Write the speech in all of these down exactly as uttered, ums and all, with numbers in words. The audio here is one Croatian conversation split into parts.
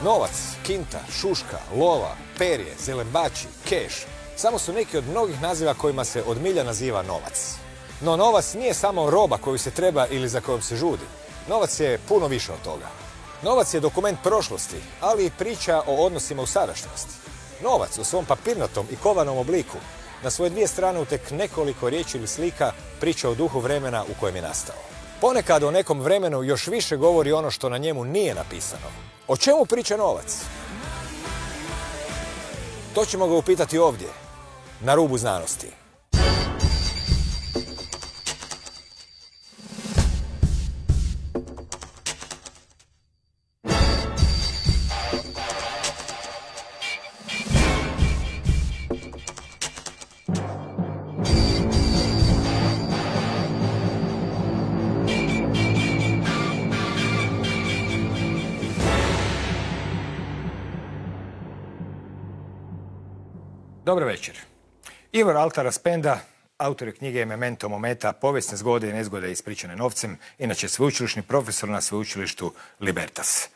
Novac, kinta, šuška, lova, perje, zelembači, keš samo su neki od mnogih naziva kojima se od milja naziva novac. No novac nije samo roba koju se treba ili za kojom se žudi. Novac je puno više od toga. Novac je dokument prošlosti, ali i priča o odnosima u sadašnjosti. Novac u svom papirnatom i kovanom obliku na svoje dvije strane u tek nekoliko riječi ili slika priča o duhu vremena u kojem je nastao. Ponekad o nekom vremenu još više govori ono što na njemu nije napisano. O čemu priča novac? To ćemo ga upitati ovdje, na rubu znanosti. Dobro večer. Ivor Altara Spenda, autor knjige Memento Momenta, povijesne zgode i nezgode ispričane novcem, inače sveučilišni profesor na sveučilištu Libertas.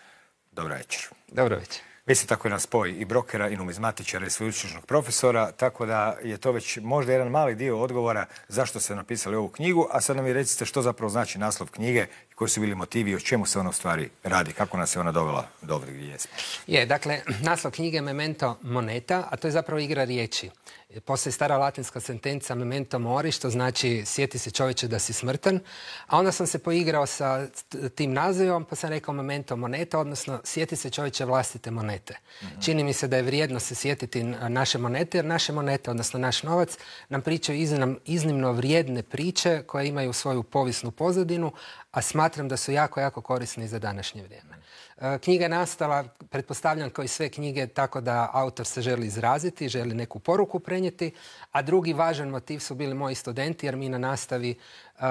Dobro večer. Dobro večer. Vi ste tako jedan spoj i brokera i numizmatičara i sveučilišnog profesora, tako da je to već možda jedan mali dio odgovora zašto ste napisali ovu knjigu, a sad nam vi recite što zapravo znači naslov knjige i koji su bili motivi i o čemu se ona u stvari radi, kako nas je ona dovela do ovdje gdje jesmo. Je, dakle, naslov knjige je Memento Moneta, a to je zapravo igra riječi. Postoji stara latinska sentenca Memento Mori, što znači sjeti se čovječe da si smrtan, a onda sam se poigrao sa tim nazivom, pa sam rekao Memento Moneta, odnosno sjeti se čovječe vlastite monete. Mm-hmm. Čini mi se da je vrijedno se sjetiti naše monete, jer naše monete, odnosno naš novac, nam pričaju iznimno, iznimno vrijedne priče koje imaju svoju povijesnu pozadinu, a smatram da su jako, jako korisni za današnje vrijeme. Knjiga je nastala, pretpostavljam kao i sve knjige, tako da autor se želi izraziti, želi neku poruku prenijeti, a drugi važan motiv su bili moji studenti, jer mi na nastavi uh,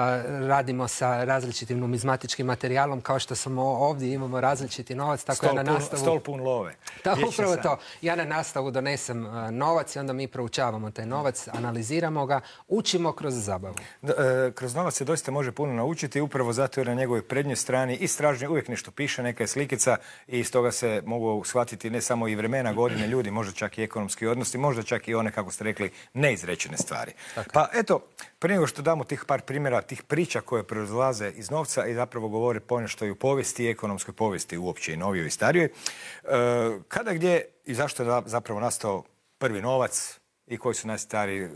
radimo sa različitim numizmatičkim materijalom, kao što smo ovdje, imamo različiti novac, tako stol ja na nastavu... Pun, stol pun love. Da, upravo to. Ja na nastavu donesem uh, novac i onda mi proučavamo taj novac, analiziramo ga, učimo kroz zabavu. Da, e, kroz novac se doista može puno naučiti, upravo zato jer na njegovoj prednjoj strani i stražnje uvijek nešto piše, neka je slikica i iz toga se mogu shvatiti ne samo i vremena, godine, ljudi, možda čak i ekonomski odnosi, možda čak i one, kako ste rekli, neizrečene stvari. Tako. Pa eto, prije nego što damo tih par primjera, tih priča koje proizlaze iz novca i zapravo govore ponešto i u povijesti i ekonomskoj povijesti uopće i novijoj i starijoj, e, kada, gdje i zašto je zapravo nastao prvi novac i koji su najstariji e,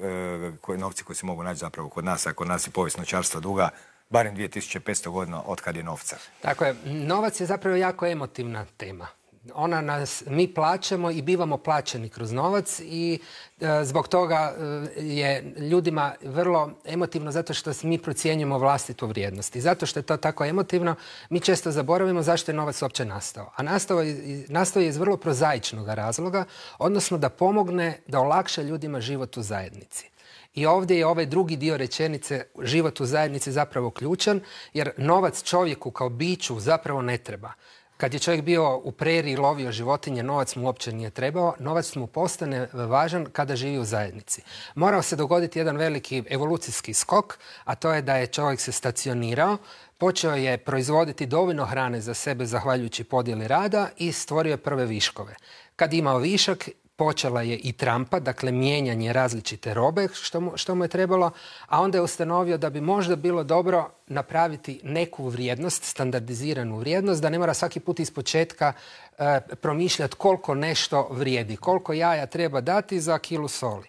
koji, novci koji se mogu naći zapravo kod nas, a kod nas je povijest novčarstva duga, barem dvije tisuće petsto godina od kad je novca. Tako je, novac je zapravo jako emotivna tema. Ona nas, mi plaćamo i bivamo plaćeni kroz novac i e, zbog toga e, je ljudima vrlo emotivno zato što mi procjenjujemo vlastitu vrijednost. I zato što je to tako emotivno, mi često zaboravimo zašto je novac uopće nastao. A nastao je, nastao je iz vrlo prozaičnog razloga, odnosno da pomogne, da olakša ljudima život u zajednici. I ovdje je ovaj drugi dio rečenice, život u zajednici, zapravo ključan, jer novac čovjeku kao biću zapravo ne treba. Kad je čovjek bio u preriji i lovio životinje, novac mu uopće nije trebao. Novac mu postane važan kada živi u zajednici. Morao se dogoditi jedan veliki evolucijski skok, a to je da je čovjek se stacionirao, počeo je proizvoditi dovoljno hrane za sebe zahvaljujući podjeli rada i stvorio je prve viškove. Kad je imao višak, počela je i trampa, dakle mijenjanje različite robe što mu, što mu je trebalo, a onda je ustanovio da bi možda bilo dobro napraviti neku vrijednost, standardiziranu vrijednost, da ne mora svaki put iz početka e, promišljati koliko nešto vrijedi, koliko jaja treba dati za kilu soli.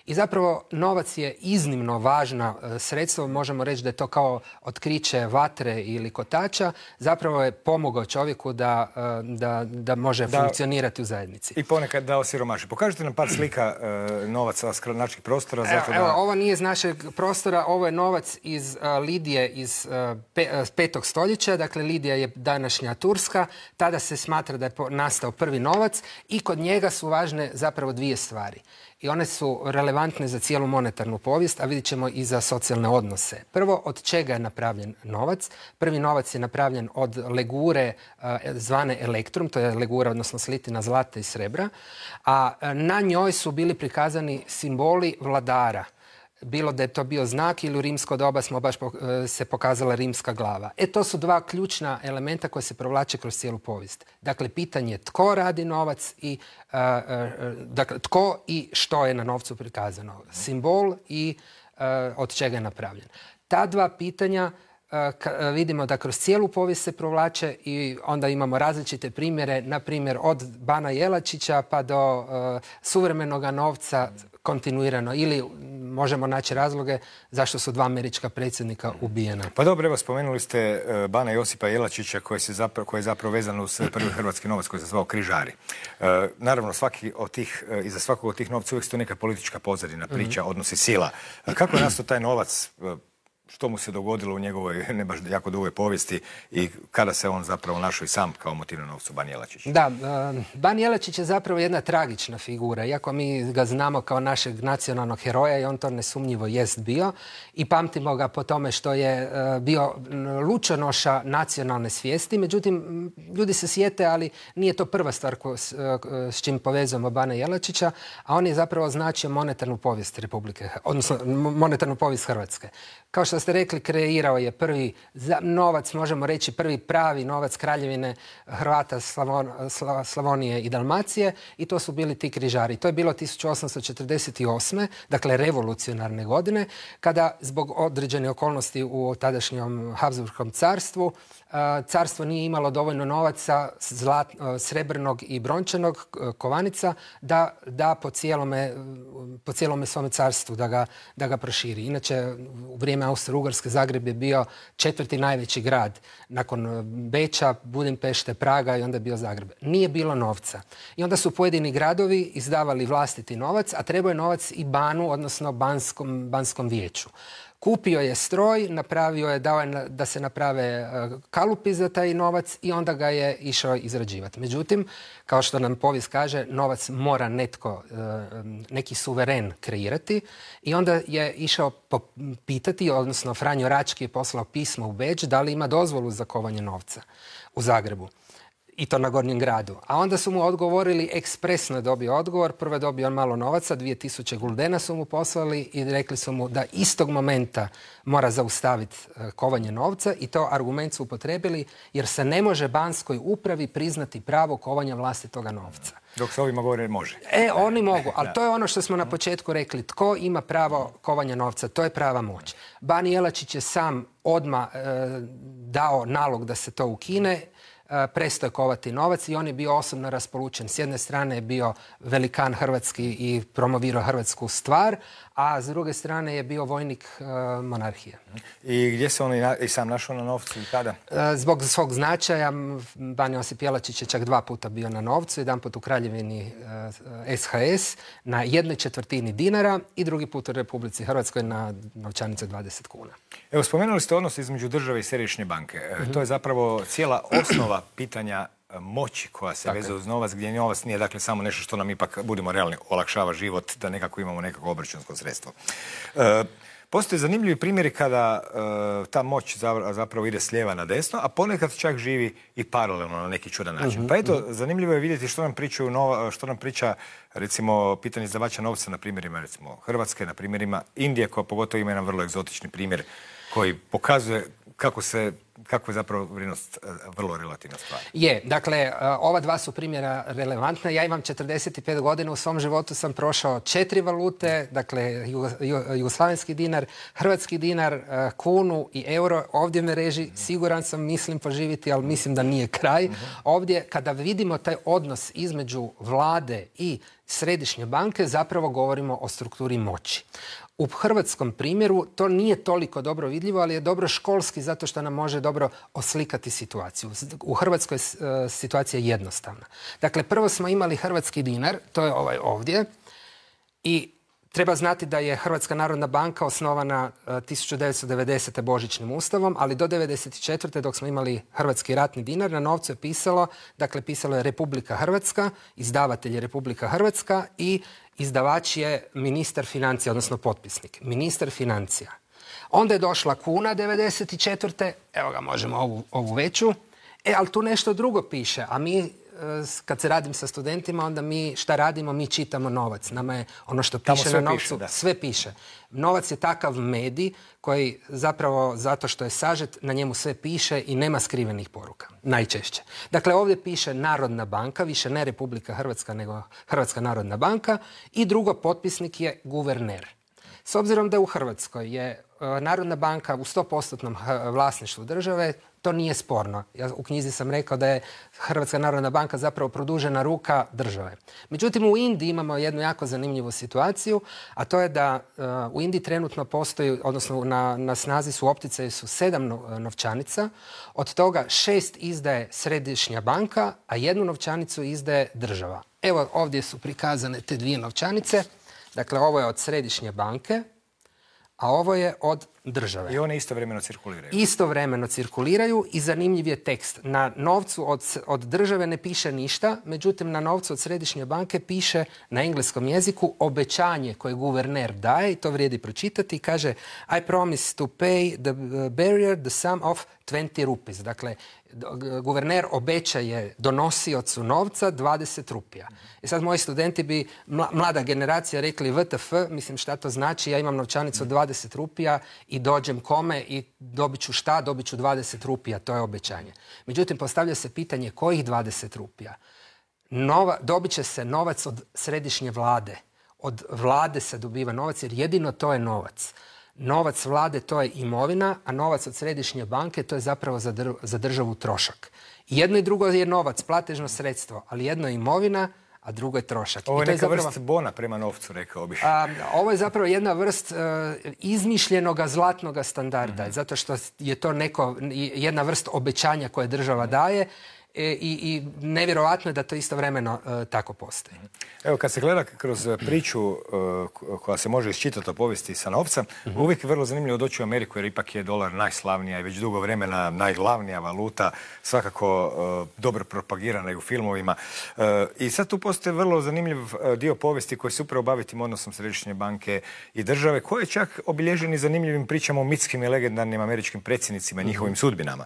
I zapravo novac je iznimno važna e, sredstvo, možemo reći da je to kao otkriće vatre ili kotača, zapravo je pomogao čovjeku da, e, da, da može da, funkcionirati u zajednici. I ponekad da osiromaši. Pokažite nam par slika e, novaca s naših prostora. Evo, zato da... evo, ovo nije iz našeg prostora, ovo je novac iz uh, Lidije iz uh, pe, uh, petog stoljeća, dakle Lidija je današnja Turska, tada se smatra da je po, nastao prvi novac i kod njega su važne zapravo dvije stvari. I one su relevantne za cijelu monetarnu povijest, a vidjet ćemo i za socijalne odnose. Prvo, od čega je napravljen novac? Prvi novac je napravljen od legure uh, zvane elektrum, to je legura, odnosno slitina zlata i srebra, a uh, na njoj su bili prikazani simboli vladara. bilo da je to bio znak ili u rimsko doba smo baš se pokazala rimska glava. E, to su dva ključna elementa koje se provlače kroz cijelu povijest. Dakle, pitanje tko radi novac i uh, uh, dakle, tko i što je na novcu prikazano. Simbol i uh, od čega je napravljen. Ta dva pitanja vidimo da kroz cijelu povijest se provlače i onda imamo različite primjere, na primjer od Bana Jelačića pa do uh, suvremenog novca kontinuirano. Ili možemo naći razloge zašto su dva američka predsjednika ubijena. Pa dobro, evo spomenuli ste uh, Bana Josipa Jelačića koji, se zapravo, koji je zapravo vezan uz prvi hrvatski novac koji se zvao križari. Uh, naravno, svaki od tih, uh, iza svakog od tih novca uvijek stoji neka politička pozadina, priča, mm-hmm. odnosi sila. Uh, kako je nastao taj novac? Uh, što mu se dogodilo u njegovoj ne baš jako dugoj povijesti i kada se on zapravo našao i sam kao motiv na novcu Ban Jelačić? Da, Ban Jelačić je zapravo jedna tragična figura. Iako mi ga znamo kao našeg nacionalnog heroja i on to nesumnjivo jest bio i pamtimo ga po tome što je bio lučonoša nacionalne svijesti. Međutim, ljudi se sjete, ali nije to prva stvar ko, s, s čim povezujemo Bana Jelačića, a on je zapravo značio monetarnu povijest Republike, odnosno monetarnu povijest Hrvatske. Kao što ste rekli, kreirao je prvi novac, možemo reći prvi pravi novac Kraljevine Hrvata, Slavon, Slavonije i Dalmacije i to su bili ti križari. To je bilo tisuću osamsto četrdeset osme. dakle revolucionarne godine, kada zbog određene okolnosti u tadašnjem Habsburgskom carstvu carstvo nije imalo dovoljno novaca zlat, srebrnog i brončanog kovanica da da po cijelome, po cijelome svome carstvu da ga, da ga proširi. Inače, u vrijeme Austro-Ugarske Zagreb je bio četvrti najveći grad nakon Beča, Budimpešte, Praga i onda je bio Zagreb. Nije bilo novca. I onda su pojedini gradovi izdavali vlastiti novac, a trebao je novac i banu, odnosno banskom, banskom vijeću. Kupio je stroj, napravio je, dao je da se naprave kalupi za taj novac i onda ga je išao izrađivati. Međutim, kao što nam povijest kaže, novac mora netko, neki suveren kreirati i onda je išao pitati, odnosno Franjo Rački je poslao pismo u Beč da li ima dozvolu za kovanje novca u Zagrebu. I to na Gornjem gradu. A onda su mu odgovorili, ekspresno je dobio odgovor. Prvo je dobio on malo novaca, dvije tisuće guldena su mu poslali i rekli su mu da istog momenta mora zaustaviti kovanje novca i to argument su upotrebili jer se ne može banskoj upravi priznati pravo kovanja vlastitoga novca. Dok se ovima govore može. E, oni mogu, ali to je ono što smo na početku rekli. Tko ima pravo kovanja novca? To je prava moć. Ban Jelačić je sam odmah e, dao nalog da se to ukine. Prestao je kovati novac i on je bio osobno raspolučen. S jedne strane je bio velikan hrvatski i promovirao hrvatsku stvar, a s druge strane je bio vojnik uh, monarhije. I gdje se on i sam našao na novcu i kada? Uh, zbog svog značaja Ban Josip Jelačić je čak dva puta bio na novcu, jedan put u Kraljevini uh, S H S na jednoj četvrtini dinara i drugi put u Republici Hrvatskoj na novčanice dvadeset kuna. Evo, spomenuli ste odnos između države i središnje banke. Mm-hmm. To je zapravo cijela osnova pitanja moći koja se veze uz novac, gdje novac nije dakle samo nešto što nam ipak, budemo realni, olakšava život, da nekako imamo nekako obračunsko sredstvo. E, postoje zanimljivi primjeri kada e, ta moć zapravo ide s lijeva na desno, a ponekad čak živi i paralelno na neki čudan način. Mm-hmm. Pa eto, zanimljivo je vidjeti što nam pričaju nova, što nam priča recimo pitanje izdavača novca na primjerima recimo Hrvatske, na primjerima Indije, koja pogotovo ima jedan vrlo egzotični primjer koji pokazuje kako se kako je zapravo vrijednost vrlo relativna stvar. Je, dakle, ova dva su primjera relevantna. Ja imam četrdeset pet godina, u svom životu sam prošao četiri valute, dakle, jugoslavenski dinar, hrvatski dinar, kunu i euro. Ovdje me reži, siguran sam, mislim poživiti, ali mislim da nije kraj. Ovdje, kada vidimo taj odnos između vlade i središnje banke, zapravo govorimo o strukturi moći. U hrvatskom primjeru to nije toliko dobro vidljivo, ali je dobro školski zato što nam može dobro oslikati situaciju. U Hrvatskoj je situacija jednostavna. Dakle, prvo smo imali hrvatski dinar, to je ovaj ovdje, i treba znati da je Hrvatska narodna banka osnovana tisuću devetsto devedesete. Božićnim ustavom, ali do devedeset četvrte. dok smo imali hrvatski ratni dinar, na novcu je pisalo, dakle pisalo je Republika Hrvatska, izdavatelj je Republika Hrvatska i izdavač je ministar financija, odnosno potpisnik. Ministar financija. Onda je došla kuna devedeset četvrte. Evo ga, možemo ovu, ovu veću. E, ali tu nešto drugo piše, a mi kad se radim sa studentima, onda mi šta radimo? Mi čitamo novac. Nama je ono što piše na novcu, sve piše. Novac je takav medij koji zapravo, zato što je sažet, na njemu sve piše i nema skrivenih poruka. Najčešće. Dakle, ovdje piše Narodna banka, više ne Republika Hrvatska, nego Hrvatska narodna banka. I drugo, potpisnik je guverner. S obzirom da u Hrvatskoj je Narodna banka u sto posto vlasništvu države, to nije sporno. Ja u knjizi sam rekao da je Hrvatska narodna banka zapravo produžena ruka države. Međutim, u Indiji imamo jednu jako zanimljivu situaciju, a to je da uh, u Indiji trenutno postoji, odnosno na, na snazi su opticaji su sedam novčanica, od toga šest izdaje središnja banka, a jednu novčanicu izdaje država. Evo ovdje su prikazane te dvije novčanice. Dakle, ovo je od središnje banke, a ovo je od države. I one istovremeno cirkuliraju. Istovremeno cirkuliraju i zanimljiv je tekst. Na novcu od, od države ne piše ništa, međutim na novcu od središnje banke piše na engleskom jeziku obećanje koje guverner daje, i to vrijedi pročitati, kaže I promise to pay the bearer the sum of twenty rupees. Dakle, guverner obećaje donosiocu novca dvadeset rupija. I sad moji studenti bi, mlada generacija, rekli W T F, mislim šta to znači, ja imam novčanicu od dvadeset rupija i dođem kome i dobit ću šta, dobit ću dvadeset rupija, to je obećanje. Međutim, postavlja se pitanje kojih dvadeset rupija? Nova, dobit će se novac od središnje vlade. Od vlade se dobiva novac jer jedino to je novac. Novac vlade to je imovina, a novac od središnje banke to je zapravo za, dr- za državu trošak. Jedno i drugo je novac, platežno sredstvo, ali jedno je imovina, a drugo je trošak. Ovo je I to neka je zapravo, vrst bona prema novcu, rekao bih. A, ovo je zapravo jedna vrst uh, izmišljenoga zlatnoga standarda, mm-hmm. zato što je to neko, jedna vrst obećanja koje država daje. I, i nevjerojatno je da to istovremeno uh, tako postoji. Evo, kad se gleda kroz priču uh, koja se može iščitati o povijesti sa novca, mm-hmm. uvijek je vrlo zanimljivo doći u Ameriku jer ipak je dolar najslavnija i već dugo vremena najglavnija valuta, svakako uh, dobro propagirana i u filmovima. Uh, I sad tu postoji vrlo zanimljiv uh, dio povijesti koji se upravo bavi tim odnosom središnje banke i države, koji je čak obilježen i zanimljivim pričama o mitskim i legendarnim američkim predsjednicima i njihovim mm-hmm. sudbinama.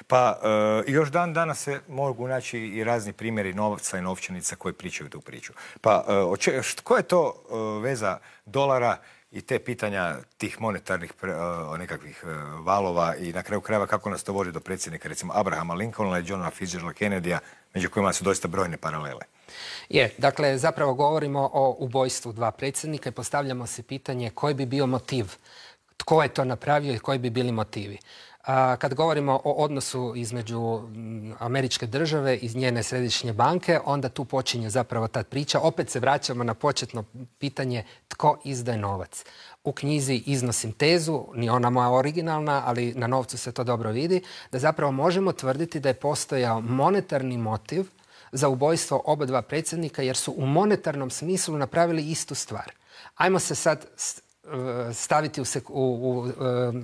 Pa uh, još dan danas se mogu naći i razni primjeri novca i novčanica koji pričaju tu priču. Pa, uh, koja je to uh, veza dolara i te pitanja tih monetarnih pre, uh, nekakvih uh, valova i na kraju krajeva kako nas to vodi do predsjednika, recimo Abrahama Lincolna i Johna Fitzgeralda Kennedyja, među kojima su doista brojne paralele? Je, dakle, zapravo govorimo o ubojstvu dva predsjednika i postavljamo se pitanje koji bi bio motiv, tko je to napravio i koji bi bili motivi. Kad govorimo o odnosu između američke države i njene središnje banke, onda tu počinje zapravo ta priča. Opet se vraćamo na početno pitanje tko izdaje novac. U knjizi iznosim tezu, ni ona moja originalna, ali na novcu se to dobro vidi, da zapravo možemo tvrditi da je postojao monetarni motiv za ubojstvo oba dva predsjednika jer su u monetarnom smislu napravili istu stvar. Ajmo se sad staviti u, u, u, u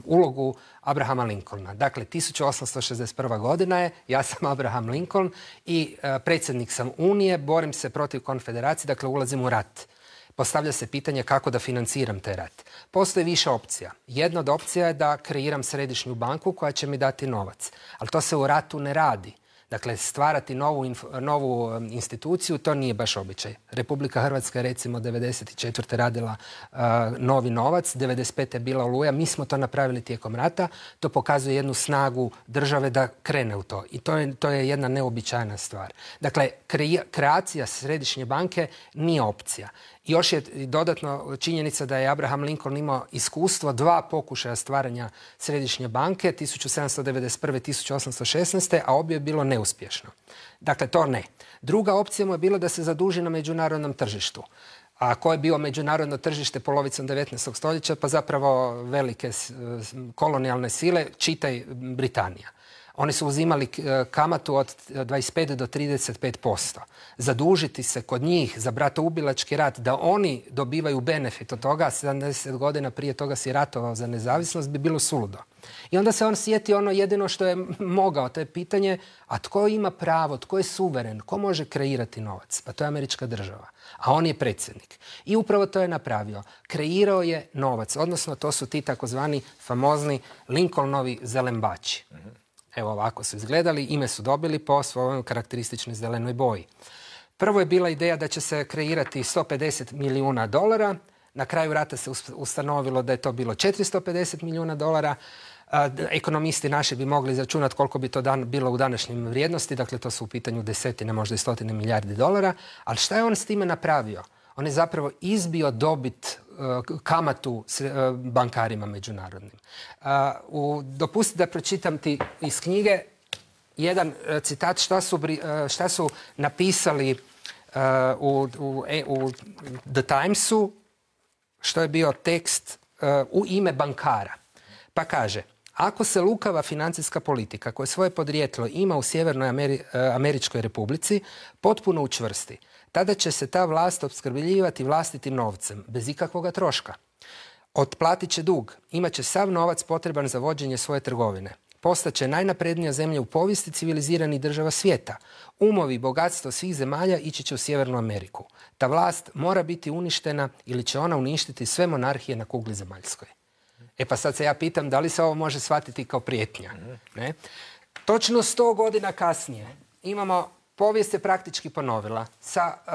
ulogu Abrahama Lincolna. Dakle, tisuću osamsto šezdeset prva godina je, ja sam Abraham Lincoln i uh, predsjednik sam Unije, borim se protiv konfederacije, dakle ulazim u rat. Postavlja se pitanje kako da financiram taj rat. Postoji više opcija. Jedna od opcija je da kreiram središnju banku koja će mi dati novac. Ali to se u ratu ne radi. Dakle, stvarati novu, inf- novu instituciju, to nije baš običaj. Republika Hrvatska je recimo devedeset četvrte radila uh, novi novac, devedeset pete je bila Oluja, mi smo to napravili tijekom rata, to pokazuje jednu snagu države da krene u to. I to je, to je jedna neobičajna stvar. Dakle, kre- kreacija središnje banke nije opcija. Još je dodatno činjenica da je Abraham Lincoln imao iskustvo dva pokušaja stvaranja središnje banke, tisuću sedamsto devedeset prve. tisuću osamsto šesnaeste. a obje je bilo neuspješno. Dakle, to ne. Druga opcija mu je bila da se zaduži na međunarodnom tržištu. A koje je bio međunarodno tržište polovicom devetnaestog stoljeća? Pa zapravo velike kolonijalne sile, čitaj Britanija. Oni su uzimali kamatu od dvadeset pet do trideset pet posto. Zadužiti se kod njih za bratoubilački rat, da oni dobivaju benefit od toga, sedamdeset godina prije toga si ratovao za nezavisnost, bi bilo suludo. I onda se on sjeti ono jedino što je mogao, to je pitanje, a tko ima pravo, tko je suveren, ko može kreirati novac? Pa to je američka država, a on je predsjednik. I upravo to je napravio. Kreirao je novac, odnosno to su ti takozvani famozni Lincolnovi zelembači. Evo ovako su izgledali, ime su dobili po svojoj karakterističnoj zelenoj boji. Prvo je bila ideja da će se kreirati sto pedeset milijuna dolara, na kraju rata se ustanovilo da je to bilo četiristo pedeset milijuna dolara. Ekonomisti naši bi mogli izračunati koliko bi to dan, bilo u današnjim vrijednosti, dakle to su u pitanju desetine, možda i stotine milijardi dolara, ali šta je on s time napravio? On je zapravo izbio dobit, kamatu bankarima međunarodnim. Dopustite da pročitam ti iz knjige jedan citat šta su, šta su napisali u, u, u The Timesu, što je bio tekst u ime bankara. Pa kaže, ako se lukava financijska politika koja svoje podrijetlo ima u Sjevernoj Ameri- Američkoj Republici potpuno učvrsti, tada će se ta vlast opskrbljivati vlastitim novcem, bez ikakvoga troška. Otplatit će dug, imat će sav novac potreban za vođenje svoje trgovine. Postaće najnaprednija zemlja u povijesti civiliziranih država svijeta. Umovi i bogatstvo svih zemalja ići će u Sjevernu Ameriku. Ta vlast mora biti uništena ili će ona uništiti sve monarhije na kugli zemaljskoj. E pa sad se ja pitam da li se ovo može shvatiti kao prijetnja. Ne? Točno sto godina kasnije imamo, povijest se praktički ponovila sa uh,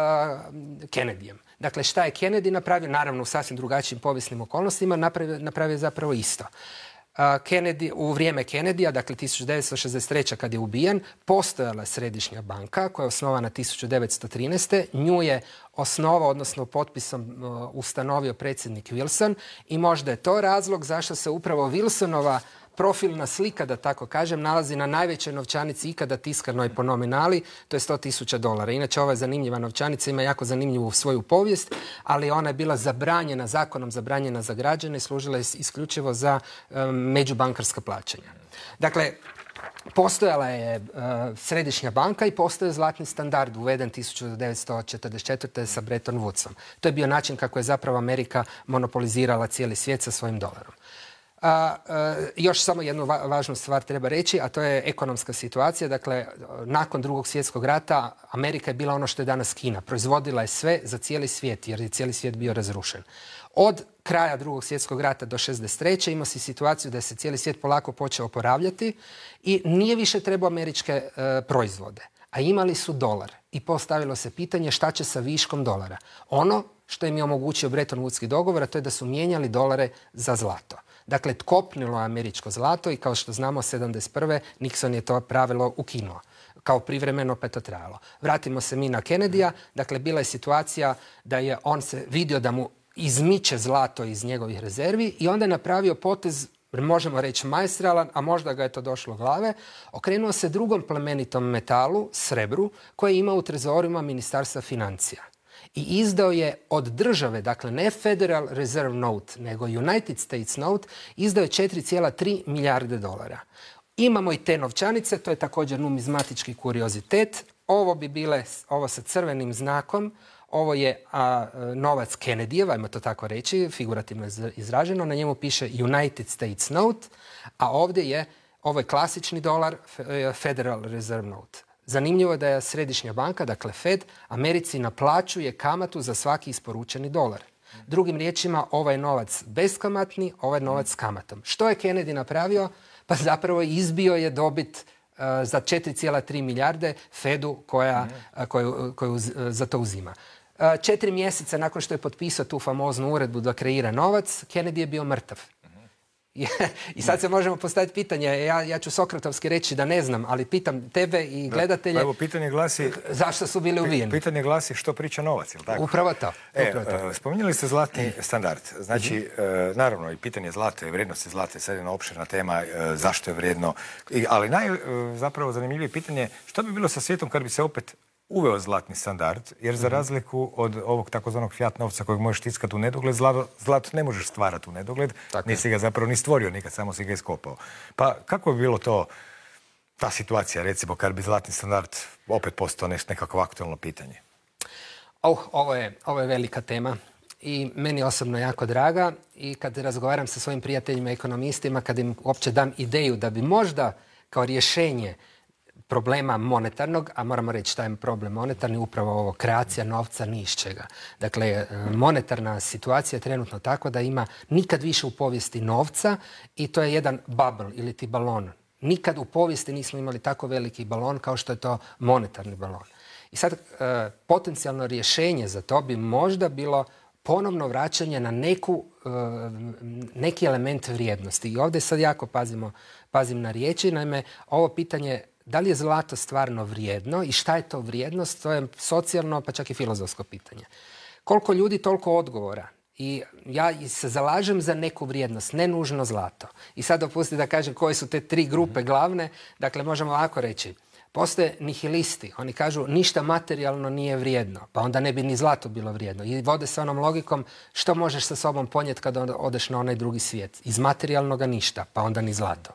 Kennedyjem. Dakle, šta je Kennedy napravio? Naravno, u sasvim drugačijim povijesnim okolnostima napravio, napravio zapravo isto. Uh, Kennedy, u vrijeme Kennedyja, dakle tisuću devetsto šezdeset treće. kad je ubijen, postojala središnja banka koja je osnovana tisuću devetsto trinaeste. Nju je osnovao, odnosno potpisom uh, ustanovio predsjednik Wilson i možda je to razlog zašto se upravo Wilsonova profilna slika, da tako kažem, nalazi na najvećoj novčanici ikada tiskanoj po nominali, to je sto tisuća dolara. Inače, ova zanimljiva novčanica ima jako zanimljivu svoju povijest, ali ona je bila zabranjena, zakonom zabranjena za građane i služila je isključivo za um, međubankarska plaćanja. Dakle, postojala je uh, središnja banka i postoje zlatni standard uveden tisuću devetsto četrdeset četvrte. sa Bretton Woodsom. To je bio način kako je zapravo Amerika monopolizirala cijeli svijet sa svojim dolarom. A, a, još samo jednu va važnu stvar treba reći, a to je ekonomska situacija. Dakle, nakon drugog svjetskog rata Amerika je bila ono što je danas Kina. Proizvodila je sve za cijeli svijet, jer je cijeli svijet bio razrušen. Od kraja drugog svjetskog rata do šezdeset treće. ima si situaciju da se cijeli svijet polako počeo oporavljati i nije više trebao američke e, proizvode. A imali su dolar. I postavilo se pitanje šta će sa viškom dolara. Ono što im je omogućio Bretton Woodski dogovor, a to je da su mijenjali dolare za zlato. Dakle, tkopnilo je američko zlato i kao što znamo, sedamdeset prve. Nixon je to pravilo ukinuo. Kao privremeno pa je to trajalo. Vratimo se mi na Kennedyja. Dakle, bila je situacija da je on se vidio da mu izmiče zlato iz njegovih rezervi i onda je napravio potez, možemo reći maestralan, a možda ga je to došlo glave, okrenuo se drugom plemenitom metalu, srebru, koje ima u trezorima Ministarstva financija. I izdao je od države, dakle ne Federal Reserve Note, nego United States Note, izdao je četiri zarez tri milijarde dolara. Imamo i te novčanice, to je također numizmatički kuriozitet. Ovo bi bile, ovo sa crvenim znakom, ovo je a, novac Kennedyjeva, ajmo to tako reći, figurativno izraženo, na njemu piše United States Note, a ovdje je, ovo je klasični dolar, Federal Reserve Note. Zanimljivo je da je središnja banka, dakle Fed, Americi naplaćuje kamatu za svaki isporučeni dolar. Drugim riječima, ovaj je novac beskamatni, ovaj je novac s kamatom. Što je Kennedy napravio? Pa zapravo izbio je dobit uh, za četiri zarez tri milijarde Fedu koja, uh, koju, koju uh, za to uzima. Uh, četiri mjeseca nakon što je potpisao tu famoznu uredbu da kreira novac, Kennedy je bio mrtav. I sad se možemo postaviti pitanje, ja, ja ću sokratovski reći da ne znam, ali pitam tebe i gledatelje, da, pa evo, pitanje glasi, zašto su bili ubijeni? Pitanje glasi što priča novac, je li tako? Upravo to. E, upravo to. Spominjali ste zlatni standard. Znači, uh-huh. naravno, i pitanje zlata i vrijednosti zlata je sad jedna opširna tema, zašto je vrijedno. I, ali naj, zapravo zanimljivije pitanje, što bi bilo sa svijetom kad bi se opet uveo zlatni standard, jer za razliku od ovog takozvanog fiat novca kojeg možeš tiskati u nedogled, zlato, zlato ne možeš stvarati u nedogled, tako nisi ga zapravo ni stvorio nikad, samo si ga iskopao. Pa kako bi bilo to, ta situacija, recimo, kad bi zlatni standard opet postao nekako aktualno pitanje? Oh, ovo je, ovo je velika tema i meni osobno jako draga i kad razgovaram sa svojim prijateljima ekonomistima, kad im uopće dam ideju da bi možda kao rješenje problema monetarnog, a moramo reći šta je problem monetarni, upravo ovo, kreacija novca ni iz čega. Dakle, monetarna situacija je trenutno tako da ima nikad više u povijesti novca i to je jedan bubble ili ti balon. Nikad u povijesti nismo imali tako veliki balon kao što je to monetarni balon. I sad, e, potencijalno rješenje za to bi možda bilo ponovno vraćanje na neku, e, neki element vrijednosti. I ovdje sad jako pazimo, pazim na riječi. Naime, ovo pitanje da li je zlato stvarno vrijedno i šta je to vrijednost, to je socijalno pa čak i filozofsko pitanje. Koliko ljudi, toliko odgovora. I ja se zalažem za neku vrijednost, ne nužno zlato. I sad dopustite da kažem koje su te tri grupe glavne. Dakle, možemo ovako reći. Postoje nihilisti. Oni kažu ništa materijalno nije vrijedno. Pa onda ne bi ni zlato bilo vrijedno. I vode se onom logikom što možeš sa sobom ponijeti kada odeš na onaj drugi svijet. Iz materijalnoga ništa, pa onda ni zlato.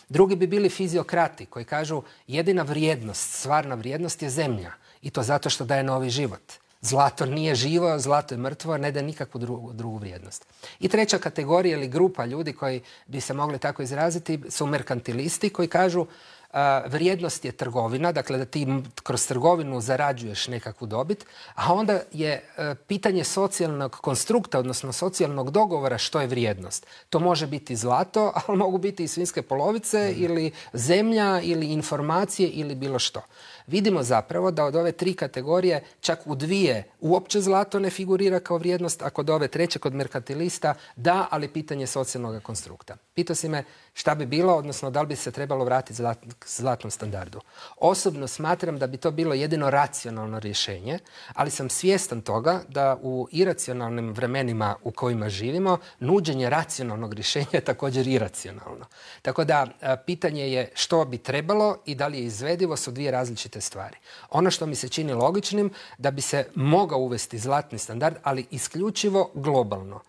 Drugi bi bili fiziokrati koji kažu jedina vrijednost, stvarna vrijednost je zemlja. I to zato što daje novi život. Zlato nije živo, zlato je mrtvo, ne daje nikakvu drugu, drugu vrijednost. I treća kategorija ili grupa ljudi koji bi se mogli tako izraziti su merkantilisti koji kažu a, vrijednost je trgovina, dakle da ti kroz trgovinu zarađuješ nekakvu dobit, a onda je a, pitanje socijalnog konstrukta, odnosno socijalnog dogovora što je vrijednost. To može biti zlato, ali mogu biti i svinjske polovice mm. ili zemlja ili informacije ili bilo što. Vidimo zapravo da od ove tri kategorije čak u dvije uopće zlato ne figurira kao vrijednost, a kod ove treće, kod merkantilista, da, ali pitanje socijalnog konstrukta. Pitao si me šta bi bilo, odnosno da li bi se trebalo vratiti zlat, zlatnom standardu. Osobno smatram da bi to bilo jedino racionalno rješenje, ali sam svjestan toga da u iracionalnim vremenima u kojima živimo, nuđenje racionalnog rješenja je također iracionalno. Tako da pitanje je što bi trebalo i da li je izvedivo su dvije različite stvari. Ono što mi se čini logičnim da bi se mogao uvesti zlatni standard, ali isključivo globalno.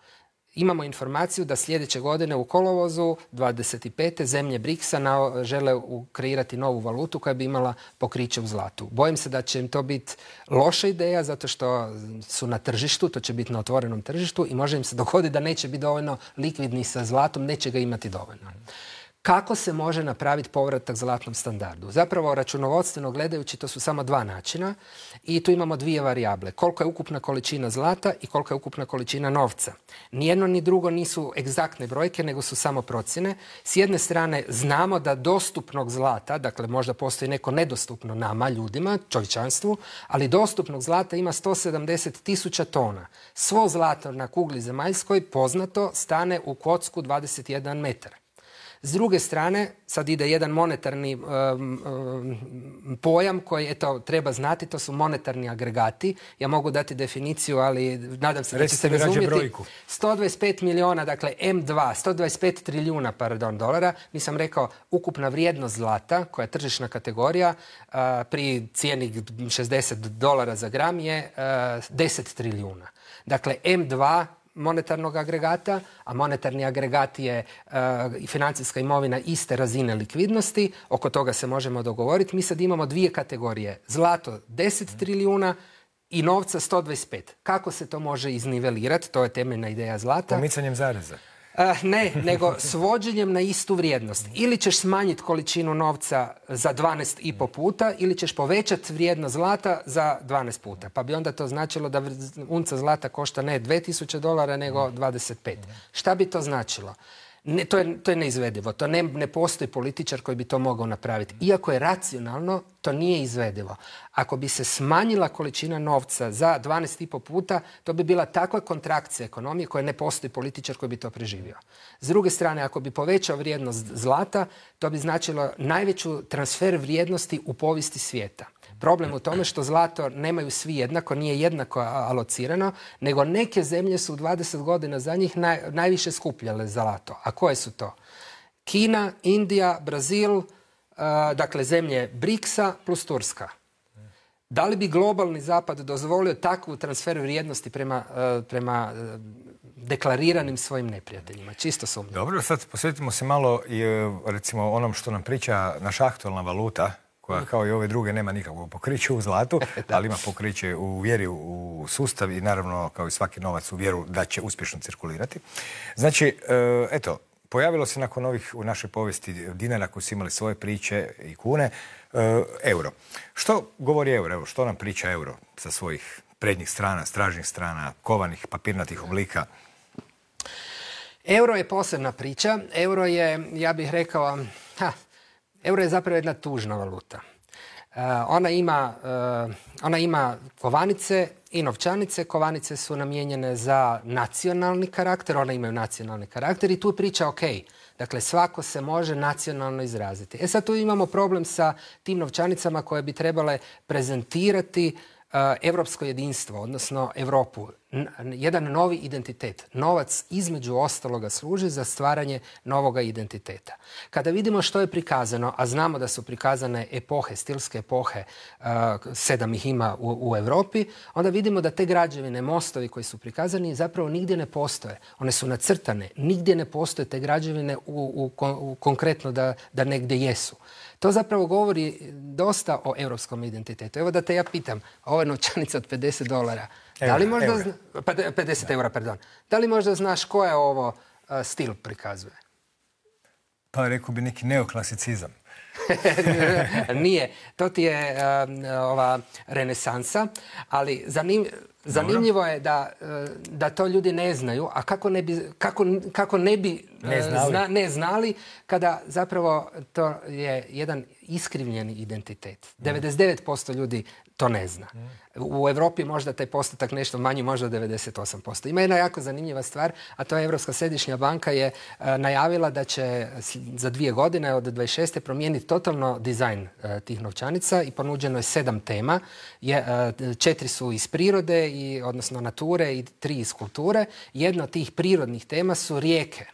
Imamo informaciju da sljedeće godine u kolovozu dvadeset pete zemlje briksa na, žele kreirati novu valutu koja bi imala pokriće u zlatu. Bojim se da će im to biti loša ideja zato što su na tržištu, to će biti na otvorenom tržištu i može im se dogoditi da neće biti dovoljno likvidni sa zlatom, neće ga imati dovoljno. Kako se može napraviti povratak zlatnom standardu? Zapravo, računovodstveno gledajući, to su samo dva načina i tu imamo dvije varijable. Koliko je ukupna količina zlata i koliko je ukupna količina novca. Nijedno ni drugo nisu egzaktne brojke, nego su samo procjene. S jedne strane znamo da dostupnog zlata, dakle možda postoji neko nedostupno nama, ljudima, čovječanstvu, ali dostupnog zlata ima sto sedamdeset tisuća tona. Svo zlato na kugli zemaljskoj poznato stane u kocku dvadeset jedan metar. S druge strane, sad ide jedan monetarni um, um, pojam koji eto, treba znati, to su monetarni agregati. Ja mogu dati definiciju, ali nadam se da će se razumjeti. sto dvadeset pet milijuna, dakle em dva, sto dvadeset pet trilijuna pardon, dolara. Nisam rekao ukupna vrijednost zlata, koja je tržišna kategorija, uh, pri cijeni šezdeset dolara za gram je uh, deset trilijuna. Dakle, em dva monetarnog agregata, a monetarni agregat je uh, financijska imovina iste razine likvidnosti, oko toga se možemo dogovoriti. Mi sad imamo dvije kategorije. Zlato deset trilijuna i novca sto dvadeset pet. Kako se to može iznivelirati? To je temeljna ideja zlata. Pomicanjem zareza. Uh, ne, nego svođenjem na istu vrijednost. Ili ćeš smanjiti količinu novca za dvanaest i po puta, ili ćeš povećati vrijednost zlata za dvanaest puta. Pa bi onda to značilo da unca zlata košta ne dvije tisuće dolara, nego dvadeset pet. Šta bi to značilo? Ne, to, je, to je neizvedivo. To ne, ne postoji političar koji bi to mogao napraviti. Iako je racionalno, to nije izvedivo. Ako bi se smanjila količina novca za dvanaest i po puta, to bi bila takva kontrakcija ekonomije koja ne postoji političar koji bi to preživio. S druge strane, ako bi povećao vrijednost zlata, to bi značilo najveću transfer vrijednosti u povijesti svijeta. Problem u tome što zlato nemaju svi jednako, nije jednako alocirano, nego neke zemlje su u dvadeset godina za njih naj, najviše skupljale zlato. A koje su to? Kina, Indija, Brazil, uh, dakle zemlje briksa plus Turska. Da li bi globalni zapad dozvolio takvu transfer vrijednosti prema, uh, prema uh, deklariranim svojim neprijateljima? Čisto sumnjam. Dobro, sad posvetimo se malo i recimo onom što nam priča naša aktualna valuta, koja kao i ove druge nema nikakvog pokrića u zlatu, ali ima pokriće u vjeri u sustav i naravno kao i svaki novac u vjeru da će uspješno cirkulirati. Znači, eto, pojavilo se nakon ovih u našoj povijesti dinara koji su imali svoje priče i kune, euro. Što govori euro? Evo, što nam priča euro sa svojih prednjih strana, stražnjih strana, kovanih, papirnatih oblika? Euro je posebna priča. Euro je, ja bih rekao, ha, Euro je zapravo jedna tužna valuta. Uh, ona, ima, uh, ona ima kovanice i novčanice. Kovanice su namijenjene za nacionalni karakter, one imaju nacionalni karakter i tu je priča ok. Dakle, svako se može nacionalno izraziti. E sad tu imamo problem sa tim novčanicama koje bi trebale prezentirati europsko jedinstvo, odnosno Europu, jedan novi identitet. Novac između ostaloga služi za stvaranje novoga identiteta. Kada vidimo što je prikazano, a znamo da su prikazane epohe, stilske epohe, sedam ih ima u, u Europi, onda vidimo da te građevine, mostovi koji su prikazani zapravo nigdje ne postoje. One su nacrtane, nigdje ne postoje te građevine u, u, u konkretno da, da negdje jesu. To zapravo govori dosta o europskom identitetu. Evo da te ja pitam, ovo je novčanica od pedeset dolara. Da li možda eura. Zna, pedeset eura, pardon. Da li možda znaš koje ovo uh, stil prikazuje? Pa rekao bi neki neoklasicizam. Nije. To ti je um, ova renesansa, ali zanim, zanimljivo je da, da to ljudi ne znaju, a kako ne bi, kako, kako ne bi ne znali. Zna, ne znali kada zapravo to je jedan iskrivljeni identitet. devedeset devet posto ljudi to ne zna. U Europi možda taj postotak nešto manji, možda devedeset osam posto. Ima jedna jako zanimljiva stvar, a to je Europska središnja banka je e, najavila da će za dvije godine od dvadeset šeste promijeniti totalno dizajn e, tih novčanica i ponuđeno je sedam tema. Je, e, četiri su iz prirode, i, odnosno nature, i tri iz kulture. Jedna od tih prirodnih tema su rijeke.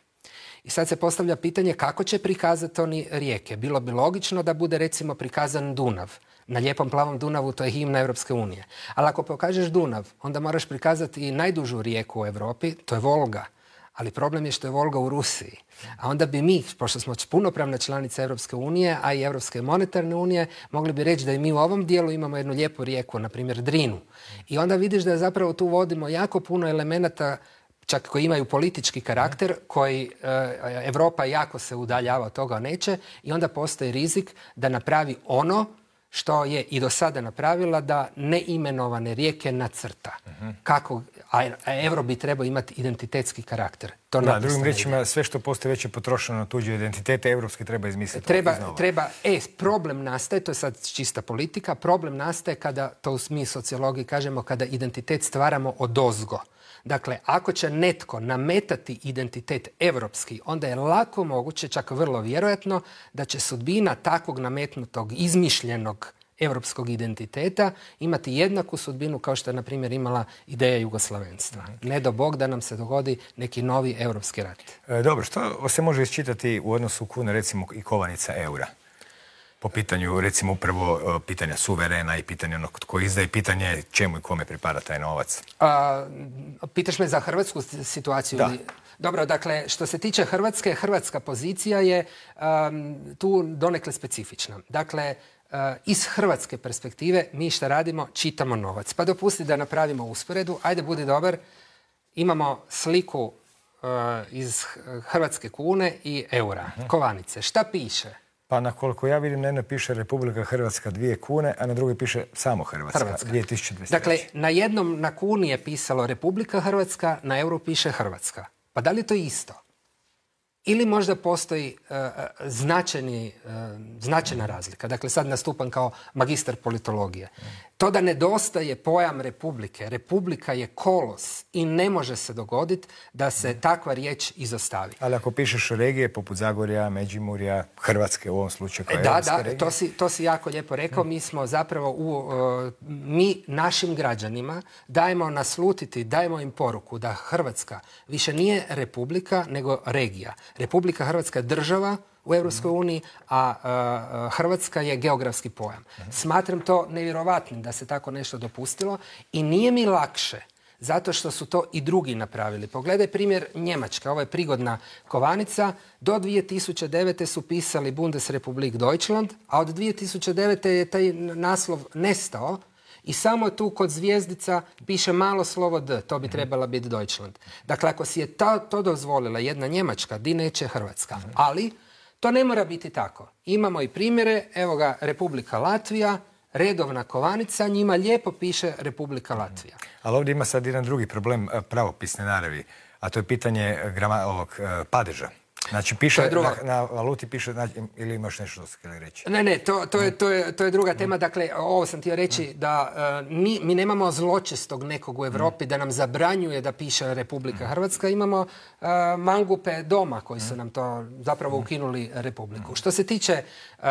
I sad se postavlja pitanje kako će prikazati oni rijeke. Bilo bi logično da bude recimo prikazan Dunav. Na lijepom plavom Dunavu to je himna Europske unije. Ali ako pokažeš Dunav, onda moraš prikazati i najdužu rijeku u Europi, to je Volga. Ali problem je što je Volga u Rusiji. A onda bi mi, pošto smo punopravna članica Europske unije, a i Europske monetarne unije, mogli bi reći da i mi u ovom dijelu imamo jednu lijepu rijeku, na primjer Drinu. I onda vidiš da zapravo tu vodimo jako puno elemenata, čak koji imaju politički karakter, koji e, Europa jako se udaljava od toga neće, i onda postoji rizik da napravi ono što je i do sada napravila, da neimenovane rijeke nacrta. Uh-huh. Kako, a, a euro bi trebao imati identitetski karakter. To da, drugim riječima, sve što postoji već je potrošeno na tuđe identitete, evropski treba izmisliti. Treba, treba, e, problem nastaje, to je sad čista politika, problem nastaje kada, to mi sociologiji kažemo, kada identitet stvaramo odozgo. Dakle, ako će netko nametati identitet evropski, onda je lako moguće, čak vrlo vjerojatno, da će sudbina takvog nametnutog, izmišljenog evropskog identiteta imati jednaku sudbinu kao što je, na primjer, imala ideja jugoslavenstva. Ne do Bog da nam se dogodi neki novi evropski rat. E, dobro, što se može isčitati u odnosu kune, recimo, i kovanica eura? Po pitanju, recimo, upravo pitanja suverena i pitanja onog tko izdaje, pitanje čemu i kome pripada taj novac. A, pitaš me za hrvatsku situaciju? Da. Dobro, dakle, što se tiče Hrvatske, hrvatska pozicija je um, tu donekle specifična. Dakle, uh, iz hrvatske perspektive mi šta radimo? Čitamo novac. Pa dopusti da napravimo usporedu. Ajde, budi dobar. Imamo sliku uh, iz hrvatske kune i eura. Uh-huh. Kovanice. Šta piše? Pa na koliko ja vidim, na jednoj piše Republika Hrvatska dvije kune, a na drugoj piše samo Hrvatska, Hrvatska. dvije tisuće dvadeset treće. Dakle, na jednom, na kuni je pisalo Republika Hrvatska, na euru piše Hrvatska. Pa da li je to isto? Ili možda postoji uh, značajni, uh, značajna razlika. Dakle, sad nastupam kao magistar politologije. To da nedostaje pojam republike. Republika je kolos i ne može se dogoditi da se takva riječ izostavi. Ali ako pišeš regije poput Zagorja, Međimurja, Hrvatske u ovom slučaju kao da, europska da, regija. to si, to si jako lijepo rekao. Mi smo zapravo, u, uh, mi našim građanima dajemo naslutiti, dajemo im poruku da Hrvatska više nije republika, nego regija. Republika Hrvatska je država u Europskoj uniji, a, a Hrvatska je geografski pojam. Smatram to nevjerovatnim da se tako nešto dopustilo i nije mi lakše zato što su to i drugi napravili. Pogledaj primjer Njemačka, ovo je prigodna kovanica. Do dvije tisuće devete su pisali Bundesrepublik Deutschland, a od dvije tisuće devete je taj naslov nestao i samo tu kod zvijezdica piše malo slovo D, to bi trebala biti Deutschland. Dakle, ako si je ta, to dozvolila jedna Njemačka, di neće Hrvatska. Ali to ne mora biti tako. Imamo i primjere, evo ga, Republika Latvija, redovna kovanica, njima lijepo piše Republika Latvija. Ali ovdje ima sad jedan drugi problem pravopisne naravi, a to je pitanje grama, ovog padeža. Znači, piše, na, na valuti piše, znači, ili imaš nešto što se htjeli reći? Ne, ne, to, to, je, to, je, to je druga tema. Dakle, ovo sam htio reći da uh, mi, mi nemamo zločestog nekog u Europi da nam zabranjuje da piše Republika Hrvatska. Imamo uh, mangupe doma koji su nam to zapravo ukinuli Republiku. Što se tiče uh,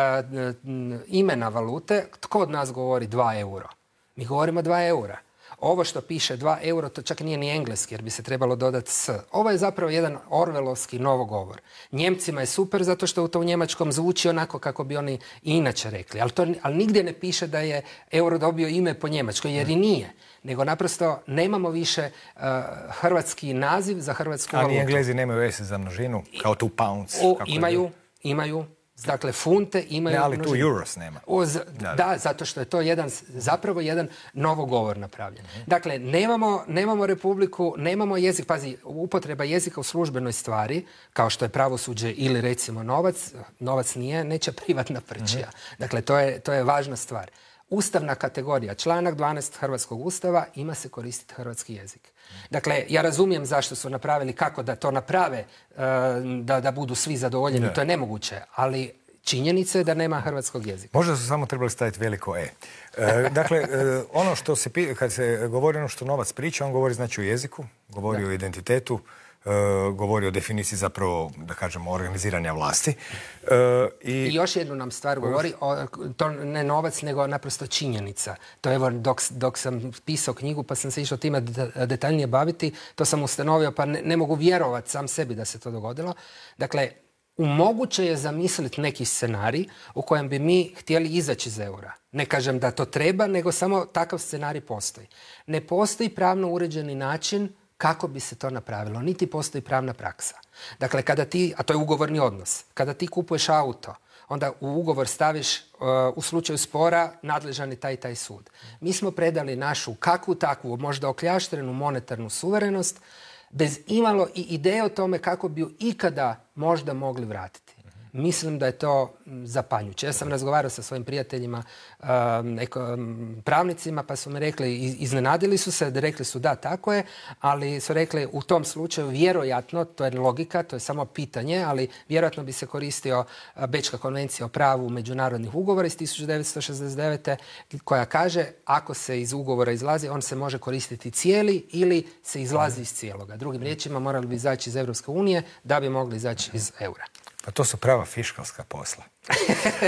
imena valute, tko od nas govori dva euro? Mi govorimo dva eura. Ovo što piše dva euro, to čak nije ni engleski, jer bi se trebalo dodati s. Ovo je zapravo jedan orvelovski novogovor. Njemcima je super zato što u to u njemačkom zvuči onako kako bi oni i inače rekli. Ali, to, ali nigdje ne piše da je euro dobio ime po njemačkoj, jer i nije. Nego naprosto nemamo više uh, hrvatski naziv za hrvatsku valutu. Ali Englezi nemaju S za množinu, kao tu pounds. O, imaju, imaju. Dakle, funte imaju... Ne, ali množinu. tu euros nema. O, z, da, da, zato što je to jedan, zapravo jedan novogovor napravljen. Mm-hmm. Dakle, nemamo, nemamo republiku, nemamo jezik, pazi, upotreba jezika u službenoj stvari, kao što je pravosuđe ili recimo novac, novac nije nečija privatna prčija. Mm-hmm. Dakle, to je, to je važna stvar. Ustavna kategorija, članak dvanaest Hrvatskog ustava, ima se koristiti hrvatski jezik. Dakle, ja razumijem zašto su napravili, kako da to naprave, da, da budu svi zadovoljeni, ne. To je nemoguće, ali činjenica je da nema hrvatskog jezika. Možda su samo trebali staviti veliko E. e dakle, e, ono što se, kad se govori ono što novac priča, on govori znači o jeziku, govori da. o identitetu, Uh, govori o definiciji zapravo, da kažemo, organiziranja vlasti. Uh, i... I još jednu nam stvar govori, o, to ne novac, nego naprosto činjenica. To evo, dok, dok sam pisao knjigu, pa sam se išao time detaljnije baviti, to sam ustanovio, pa ne, ne mogu vjerovati sam sebi da se to dogodilo. Dakle, moguće je zamisliti neki scenarij u kojem bi mi htjeli izaći iz eura. Ne kažem da to treba, nego samo takav scenarij postoji. Ne postoji pravno uređeni način kako bi se to napravilo. Niti postoji pravna praksa. Dakle, kada ti, a to je ugovorni odnos, kada ti kupuješ auto, onda u ugovor staviš uh, u slučaju spora nadležan je taj taj sud. Mi smo predali našu kakvu takvu, možda okljaštrenu monetarnu suverenost, bez imalo i ideje o tome kako bi ju ikada možda mogli vratiti. Mislim da je to zapanjuće. Ja sam razgovarao sa svojim prijateljima, um, eko, um, pravnicima, pa su mi rekli, iznenadili su se, rekli su da, tako je, ali su rekli u tom slučaju vjerojatno, to je logika, to je samo pitanje, ali vjerojatno bi se koristio Bečka konvencija o pravu međunarodnih ugovora iz tisuću devetsto šezdeset devete koja kaže ako se iz ugovora izlazi, on se može koristiti cijeli ili se izlazi iz cijeloga. Drugim riječima, morali bi izaći iz Europske unije da bi mogli izaći iz eura. Pa to su prava fiškalska posla.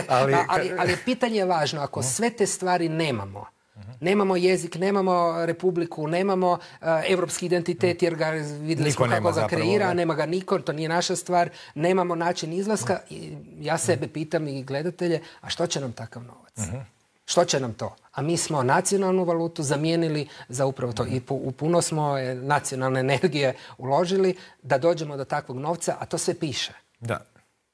ali, ali, ali pitanje je važno, ako sve te stvari nemamo, nemamo jezik, nemamo republiku, nemamo uh, evropski identitet, jer ga vidjeli smo kako ga kreira, nema ga niko, to nije naša stvar, nemamo način izlaska. I ja sebe pitam i gledatelje, a što će nam takav novac? Uh-huh. Što će nam to? A mi smo nacionalnu valutu zamijenili za upravo to. I u puno smo nacionalne energije uložili da dođemo do takvog novca, a to sve piše. Da.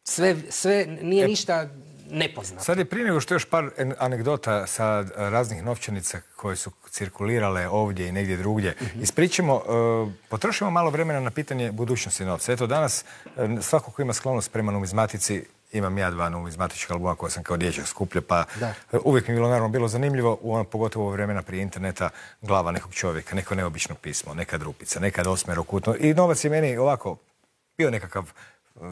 Sve, sve nije e, ništa nepoznato. Sad je prije nego što još par anegdota sa raznih novčanica koje su cirkulirale ovdje i negdje drugdje. Mm-hmm. Ispričamo, uh, potrošimo malo vremena na pitanje budućnosti novca. Eto, danas uh, svako ko ima sklonost prema numizmatici, imam ja dva numizmatička albuma koja sam kao dječak skupljao, pa uh, uvijek mi je bilo naravno bilo zanimljivo, u ono, pogotovo u vremena prije interneta, glava nekog čovjeka, neko neobično pismo, nekad rupica, nekad osmerokutno. I novac je meni ovako bio nekakav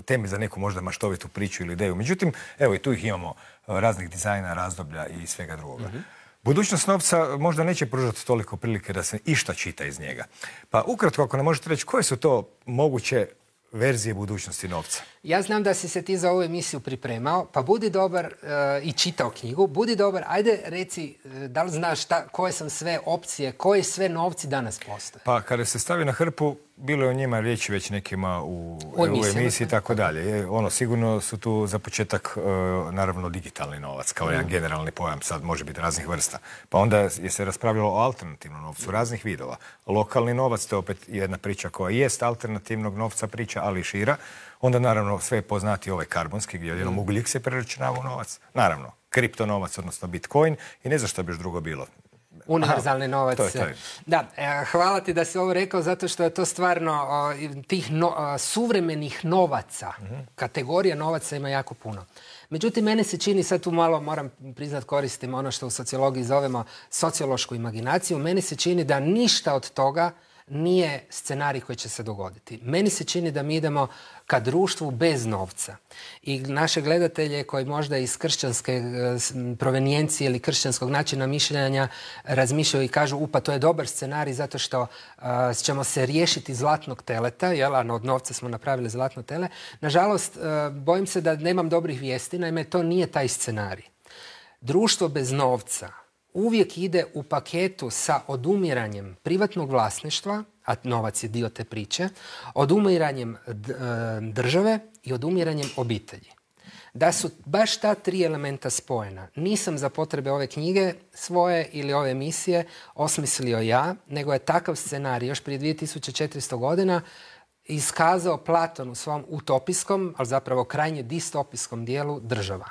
temi za neku možda maštovitu priču ili ideju. Međutim, evo i tu ih imamo raznih dizajna, razdoblja i svega drugoga. Mm-hmm. Budućnost novca možda neće pružati toliko prilike da se išta čita iz njega. Pa ukratko, ako ne možete reći, koje su to moguće verzije budućnosti novca? Ja znam da si se ti za ovu emisiju pripremao, pa budi dobar uh, i čitao knjigu. Budi dobar, ajde reci uh, da li znaš šta, koje sam sve opcije, koji sve novci danas postoje? Pa kada se stavi na hrpu, bilo je o njima riječi već nekima u, u emisiji i tako dalje. Ono, sigurno su tu za početak uh, naravno digitalni novac, kao mm. jedan generalni pojam, sad može biti raznih vrsta. Pa onda je se raspravljalo o alternativnom novcu, raznih vidova. Lokalni novac, to je opet jedna priča koja jest alternativnog novca priča, ali šira. Onda naravno sve je poznati ovaj karbonski, gdje jednom mm. ugljik se preračunava u novac. Naravno, kriptonovac, odnosno bitcoin i ne znam što bi još drugo bilo. Univerzalni novac. To je, to je. Da, hvala ti da si ovo rekao, zato što je to stvarno tih no, suvremenih novaca, mm-hmm. kategorija novaca ima jako puno. Međutim, mene se čini, sad tu malo moram priznat koristim ono što u sociologiji zovemo sociološku imaginaciju, meni se čini da ništa od toga nije scenarij koji će se dogoditi. Meni se čini da mi idemo ka društvu bez novca. I naše gledatelje koji možda iz kršćanske provenijencije ili kršćanskog načina mišljenja razmišljaju i kažu upa, to je dobar scenarij zato što uh, ćemo se riješiti zlatnog teleta, jel, a od novca smo napravili zlatno tele. Nažalost, uh, bojim se da nemam dobrih vijesti, naime to nije taj scenarij. Društvo bez novca uvijek ide u paketu sa odumiranjem privatnog vlasništva, a novac je dio te priče, odumiranjem države i odumiranjem obitelji. Da su baš ta tri elementa spojena, nisam za potrebe ove knjige svoje ili ove emisije osmislio ja, nego je takav scenarij još prije dvije tisuće četiristo godina iskazao Platon u svom utopijskom, ali zapravo krajnje distopijskom dijelu država.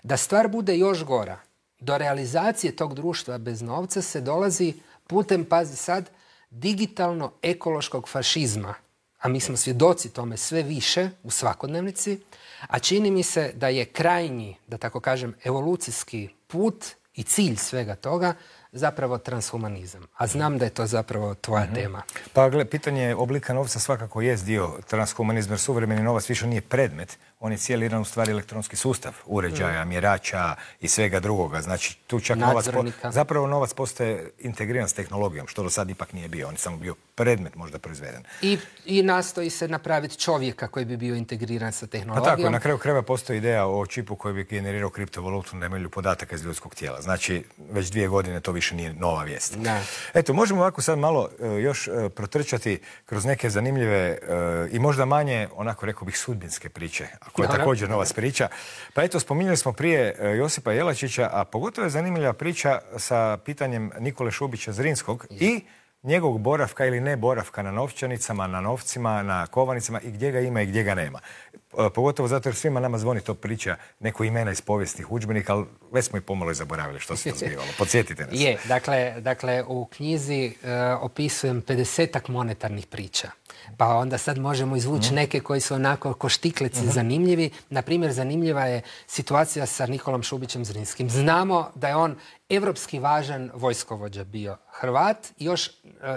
Da stvar bude još gora, do realizacije tog društva bez novca se dolazi putem, pazi sad, digitalno-ekološkog fašizma. A mi smo svjedoci tome sve više u svakodnevnici. A čini mi se da je krajnji, da tako kažem, evolucijski put i cilj svega toga zapravo transhumanizam. A znam da je to zapravo tvoja mm-hmm. tema. Pa gle, pitanje oblika novca svakako jest dio transhumanizma, jer suvremeni novac više nije predmet. On je cijeli jedan u stvari elektronski sustav uređaja, mm. mjerača i svega drugoga. Znači tu čak novac, po, zapravo novac postaje integriran s tehnologijom, što do sad ipak nije bio. On je samo bio predmet možda proizveden. I, i nastoji se napraviti čovjeka koji bi bio integriran sa tehnologijom. Pa tako, na kraju krajeva postoji ideja o čipu koji bi generirao kriptovalutu na temelju podataka iz ljudskog tijela. Znači već dvije godine to više nije nova vijest. Da. Eto, možemo ovako sad malo uh, još uh, protrčati kroz neke zanimljive uh, i možda manje, onako rekao bih, sudbinske priče, koja je također novac priča. Pa eto, spominjali smo prije uh, Josipa Jelačića, a pogotovo je zanimljiva priča sa pitanjem Nikole Šubića Zrinskog je. i njegovog boravka ili ne boravka na novčanicama, na novcima, na kovanicama i gdje ga ima i gdje ga nema. Pogotovo zato jer svima nama zvoni to priča neko imena iz povijesnih udžbenika, ali već smo i pomalo i zaboravili što se to zbivalo. Podsjetite nas. Je, dakle, dakle u knjizi uh, opisujem pedesetak monetarnih priča. Pa onda sad možemo izvući mm. neke koji su onako ko štiklici mm-hmm. zanimljivi. Naprimjer, zanimljiva je situacija sa Nikolom Šubićem Zrinskim. Znamo da je on evropski važan vojskovođa bio Hrvat, još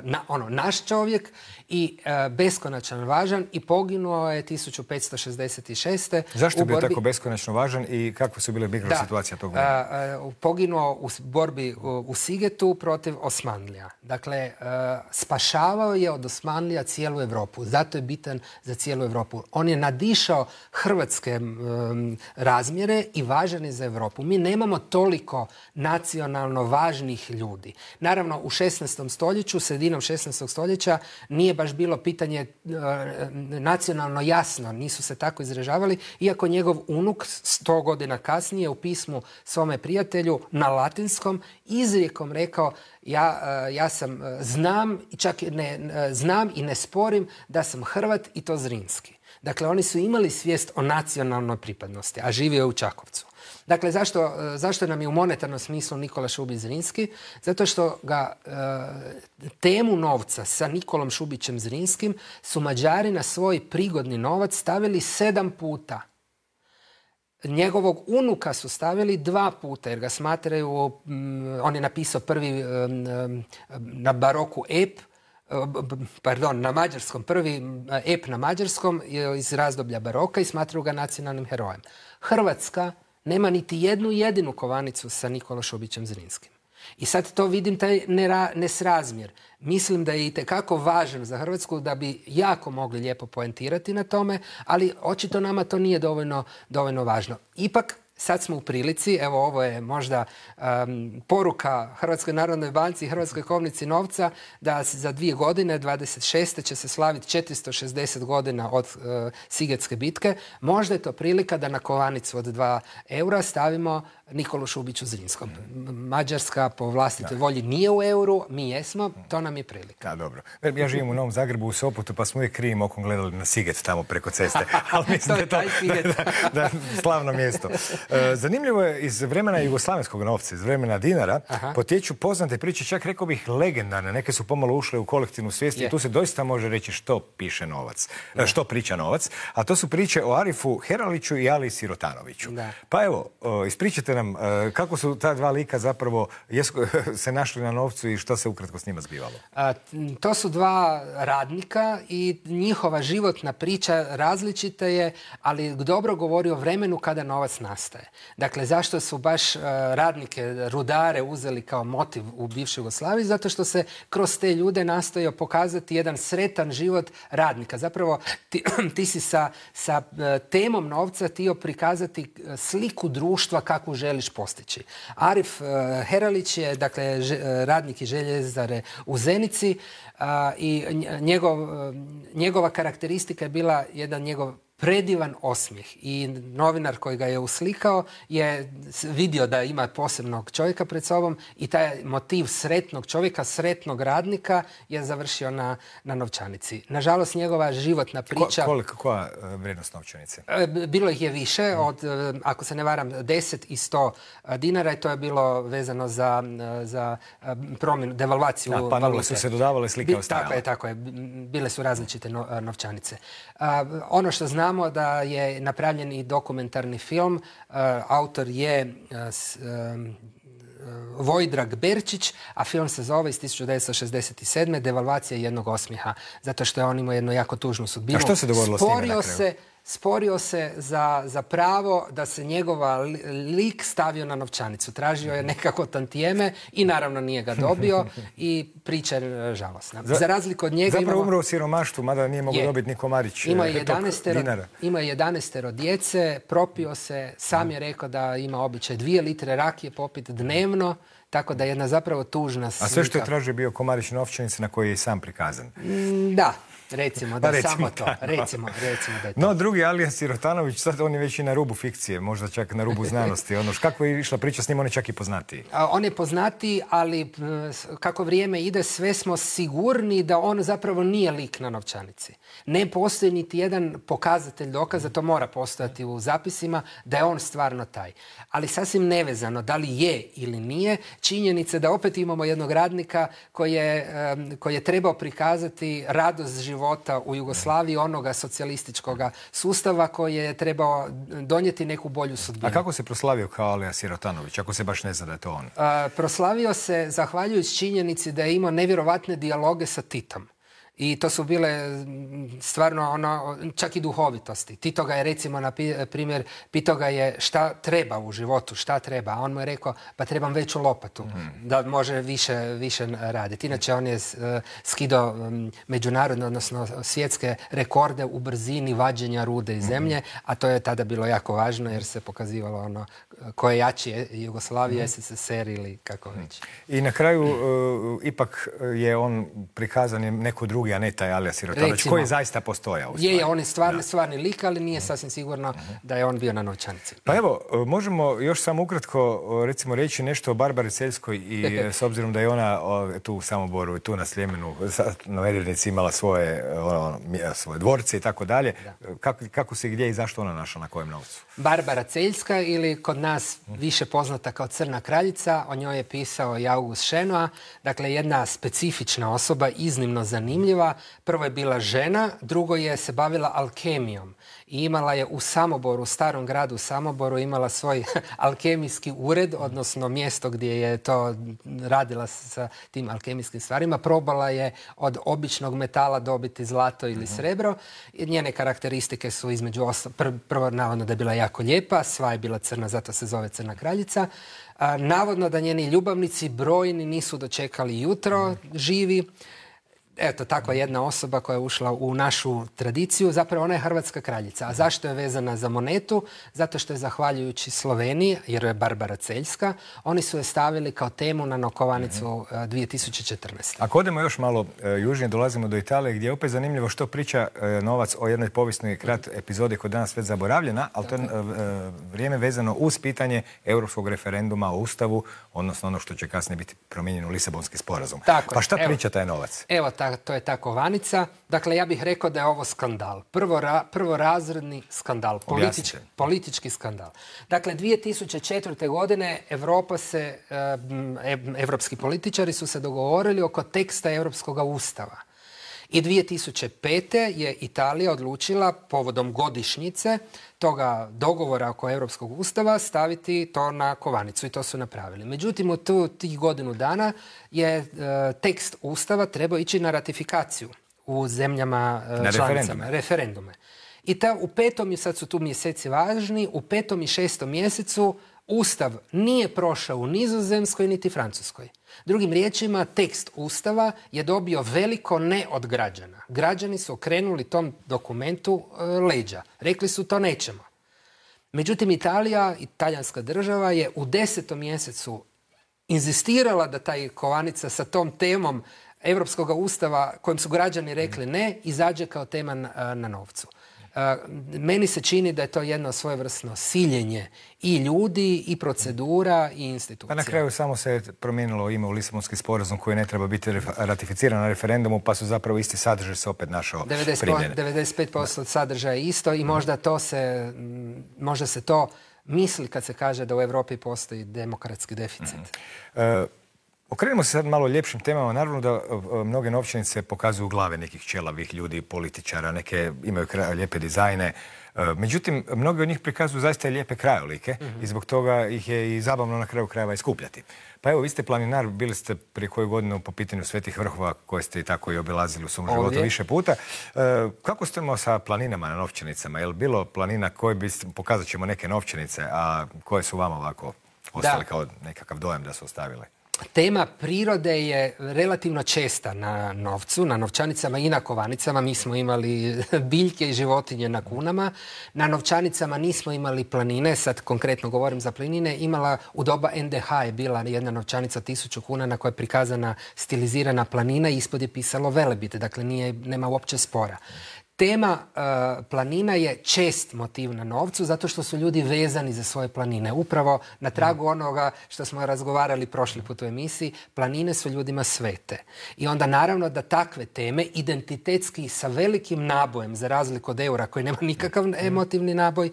na, ono, naš čovjek i uh, beskonačan važan i poginuo je tisuću petsto šezdeset šeste. Zašto je bio borbi... tako beskonačno važan i kakve su bile mikrosituacije tog vremena? Uh, uh, poginuo u borbi u, u Sigetu protiv Osmanlija. Dakle, uh, spašavao je od Osmanlija cijelu Europu. Zato je bitan za cijelu Europu. On je nadišao hrvatske um, razmjere i važan je za Europu. Mi nemamo toliko nacionalno važnih ljudi. Naravno, u šesnaestom stoljeću, sredinom šesnaestog stoljeća, nije baš bilo pitanje uh, nacionalno jasno. Nisu se tako izražavali, iako njegov unuk sto godina kasnije u pismu svome prijatelju na latinskom izrijekom rekao ja, uh, ja sam, uh, znam, čak ne, uh, znam i ne sporim da sam Hrvat i to Zrinski. Dakle, oni su imali svijest o nacionalnoj pripadnosti, a živio je u Čakovcu. Dakle, zašto, zašto nam je u monetarnom smislu Nikola Šubić Zrinski? Zato što ga e, temu novca sa Nikolom Šubićem Zrinskim su Mađari na svoj prigodni novac stavili sedam puta. Njegovog unuka su stavili dva puta, jer ga smatraju, m, on je napisao prvi m, m, na baroku ep, pardon, na mađarskom, prvi ep na mađarskom iz razdoblja baroka i smatraju ga nacionalnim herojem. Hrvatska nema niti jednu jedinu kovanicu sa Nikolom Šubićem Zrinskim. I sad to vidim taj nera, nesrazmjer. Mislim da je itekako važan za Hrvatsku da bi jako mogli lijepo poentirati na tome, ali očito nama to nije dovoljno, dovoljno važno. Ipak, sad smo u prilici, evo ovo je možda um, poruka Hrvatskoj narodnoj banci i Hrvatskoj kovnici novca da za dvije godine, dvadeset šeste će se slaviti četiristo šezdeset godina od uh, Sigetske bitke. Možda je to prilika da na kovanicu od dva eura stavimo Nikolu Šubiću Zrinskom. Mađarska po vlastitoj volji nije u euru, mi jesmo, to nam je prilika. Da, dobro. Ja živim u Novom Zagrebu, u Sopotu, pa smo uvijek krivim okom gledali na Siget tamo preko ceste. Ali mislim da je to da, da, slavno mjesto. Zanimljivo je, iz vremena jugoslavenskog novca, iz vremena dinara, Aha. potječu poznate priče, čak rekao bih legendarne, neke su pomalo ušle u kolektivnu svijest Je. i tu se doista može reći što piše novac, ne. što priča novac, a to su priče o Arifu Heraliću i Aliji Sirotanoviću. Da. Pa evo, ispričajte nam kako su ta dva lika zapravo jesu, se našli na novcu i što se ukratko s njima zbivalo. A, to su dva radnika i njihova životna priča različita je, ali dobro govori o vremenu kada novac nastaje. Dakle, zašto su baš uh, radnike, rudare uzeli kao motiv u bivšoj Jugoslaviji? Zato što se kroz te ljude nastojao pokazati jedan sretan život radnika. Zapravo, ti, ti si sa, sa uh, temom novca htio prikazati sliku društva kakvu želiš postići. Arif uh, Heralić je, dakle, ž, radnik i željezare u Zenici uh, i njegov, uh, njegova karakteristika je bila jedan njegov predivan osmijeh i novinar koji ga je uslikao je vidio da ima posebnog čovjeka pred sobom i taj motiv sretnog čovjeka, sretnog radnika je završio na, na novčanici. Nažalost, njegova životna priča... Ko, koliko, koja vrijednost novčanice? Bilo ih je više, od, ako se ne varam, deset i sto dinara i to je bilo vezano za, za promjenu, devalvaciju valute. Pa nule su se dodavale, slike ostajale. Tako je, tako je. Bile su različite no, novčanice. A, ono što znamo da je napravljen i dokumentarni film. Uh, autor je uh, s, um, Vojdrag Berčić, a film se zove iz tisuću devetsto šezdeset sedme. Devalvacija jednog osmijeha, zato što je on imao jednu jako tužnu sudbinu. A što se dogodilo s njime na kraju? Se, sporio se za, za pravo da se njegova lik stavio na novčanicu. Tražio je nekako tantijeme i naravno nije ga dobio i priča je žalosna. Za, za razliku od njega... Zapravo imamo, umro u siromaštvu, mada nije mogao dobiti ni komarić ima dinara. Ima jedanaestero djece, propio se, sam je rekao da ima običaj dvije litre rakije popiti dnevno, tako da je jedna zapravo tužna slika. A sve što je tražio bio komarić novčanice na koji je i sam prikazan. Mm, da. Recimo da recimo samo to. Da, no. Recimo, recimo da je to. No, drugi Alija Sirotanović, sad on je već i na rubu fikcije, možda čak na rubu znanosti. Ono, kako je išla priča s njim, on je čak i poznatiji. A, on je poznatiji, ali kako vrijeme ide, sve smo sigurni da on zapravo nije lik na novčanici. Ne postoji niti jedan pokazatelj dokaza, to mora postojati u zapisima, da je on stvarno taj. Ali sasvim nevezano, da li je ili nije, činjenica da opet imamo jednog radnika koji je, um, koji je trebao prikazati radost života u Jugoslaviji, onoga socijalističkog sustava koji je trebao donijeti neku bolju sudbinu. A kako se proslavio kao Alija Sirotanović, ako se baš ne zna da je to on? A, proslavio se zahvaljujući činjenici da je imao nevjerovatne dijaloge sa Titom. I to su bile stvarno ono, čak i duhovitosti. Tito ga je recimo na primjer pitao ga je šta treba u životu, šta treba. A on mu je rekao pa trebam veću lopatu mm. da može više, više raditi. Inače on je uh, skidao um, međunarodne, odnosno svjetske rekorde u brzini vađenja rude iz zemlje, mm. a to je tada bilo jako važno jer se pokazivalo ono ko je jači, Jugoslavija, mm. S S S R ili kako već. I na kraju uh, ipak je on prikazan neko drugi, a ne taj Alija Sirotanović, koji je zaista postojao. Je, je, on je stvarni, stvarni lik, ali nije sasvim sigurno da je on bio na novčanici. Pa evo, možemo još samo ukratko recimo reći nešto o Barbari Celjskoj i s obzirom da je ona tu u Samoboru i tu na Sljemenu na Medvednici imala svoje, ono, svoje dvorce i tako dalje. Kako, kako se gdje i zašto ona našla, na kojem novcu? Barbara Celjska ili kod nas više poznata kao Crna kraljica, o njoj je pisao i August Šenoa, dakle jedna specifična osoba, iznimno zanimljiva. Prvo je bila žena, drugo je se bavila alkemijom i imala je u Samoboru, u starom gradu Samoboru, imala svoj alkemijski ured, odnosno mjesto gdje je to radila sa tim alkemijskim stvarima. Probala je od običnog metala dobiti zlato ili srebro. I njene karakteristike su između osam, pr prvo navodno da je bila jako lijepa, sva je bila crna, zato se zove Crna kraljica. A, navodno da njeni ljubavnici brojni nisu dočekali jutro živi. Eto, takva jedna osoba koja je ušla u našu tradiciju. Zapravo ona je hrvatska kraljica. A zašto je vezana za monetu? Zato što je zahvaljujući Sloveniji, jer je Barbara Celjska, oni su je stavili kao temu na nokovanicu dvije tisuće četrnaeste. Ako odemo još malo e, južnije, dolazimo do Italije, gdje je opet zanimljivo što priča e, Novac o jednoj povijesnoj krat epizodi koja je danas već zaboravljena, ali to je e, vrijeme vezano uz pitanje europskog referenduma o Ustavu, odnosno ono što će kasnije biti promijenjeno u Lisabonski sporazum. Tako, pa šta evo, priča taj Novac? Evo, ta, ta, to je ta kovanica. Dakle, ja bih rekao da je ovo skandal. Prvo ra, prvorazredni skandal. Politič, politički skandal. Dakle, dvije tisuće četvrte. godine Evropa se, evropski političari su se dogovorili oko teksta Europskog ustava. I dvije tisuće pete. je Italija odlučila povodom godišnjice toga dogovora oko Europskog ustava staviti to na kovanicu i to su napravili. Međutim, u tu, tih godinu dana je e, tekst ustava trebao ići na ratifikaciju u zemljama e, na članicama, referendume. referendume. I ta, u petom, sad su tu mjeseci važni, u petom i šestom mjesecu Ustav nije prošao u Nizozemskoj niti Francuskoj. Drugim riječima, tekst Ustava je dobio veliko ne od građana. Građani su okrenuli tom dokumentu e, leđa. Rekli su to nećemo. Međutim, Italija, italijanska država je u desetom mjesecu inzistirala da taj kovanica sa tom temom Europskog ustava kojim su građani rekli ne, izađe kao tema na, na novcu. Meni se čini da je to jedno svojevrsno siljenje i ljudi, i procedura, i institucija. Pa na kraju samo se promijenilo ime u Lisabonski sporazum koji ne treba biti ratificiran na referendumu, pa su zapravo isti sadržaj se opet našao primjene. devedeset pet posto sadržaja je isto i možda to se, možda se to misli kad se kaže da u Europi postoji demokratski deficit. Mm-hmm. uh, Okrenimo se sad malo ljepšim temama. Naravno da mnoge novčanice pokazuju glave nekih ćelavih ljudi, političara, neke imaju lijepe dizajne. Međutim, mnogi od njih prikazuju zaista lijepe krajolike mm-hmm. i zbog toga ih je i zabavno na kraju krajeva iskupljati. Pa evo, vi ste planinar, bili ste prije koju godinu po pitanju Svetih vrhova koje ste i tako i obilazili u svom Ovdje. životu više puta. E, kako ste imali sa planinama na novčanicama? Je li bilo planina koje bi, pokazat ćemo neke novčanice, a koje su vama ovako ostali da. kao nekakav dojam da su ostavile? Tema prirode je relativno česta na novcu, na novčanicama i na kovanicama. Mi smo imali biljke i životinje na kunama. Na novčanicama nismo imali planine, sad konkretno govorim za planine. Imala u doba en de ha je bila jedna novčanica tisuću kuna na kojoj je prikazana stilizirana planina i ispod je pisalo Velebit, dakle nije, nema uopće spora. Tema uh, planina je čest motiv na novcu zato što su ljudi vezani za svoje planine. Upravo na tragu onoga što smo razgovarali prošli put u emisiji, planine su ljudima svete. I onda naravno da takve teme identitetski sa velikim nabojem, za razliku od eura koji nema nikakav emotivni naboj,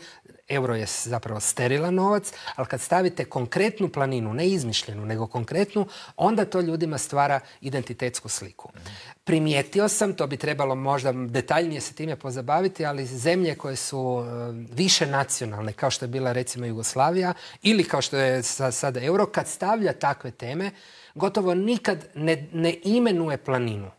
euro je zapravo sterilan novac, ali kad stavite konkretnu planinu, ne izmišljenu, nego konkretnu, onda to ljudima stvara identitetsku sliku. Primijetio sam, to bi trebalo možda detaljnije se time pozabaviti, ali zemlje koje su više nacionalne, kao što je bila recimo Jugoslavija ili kao što je sada euro, kad stavlja takve teme, gotovo nikad ne, ne imenuje planinu,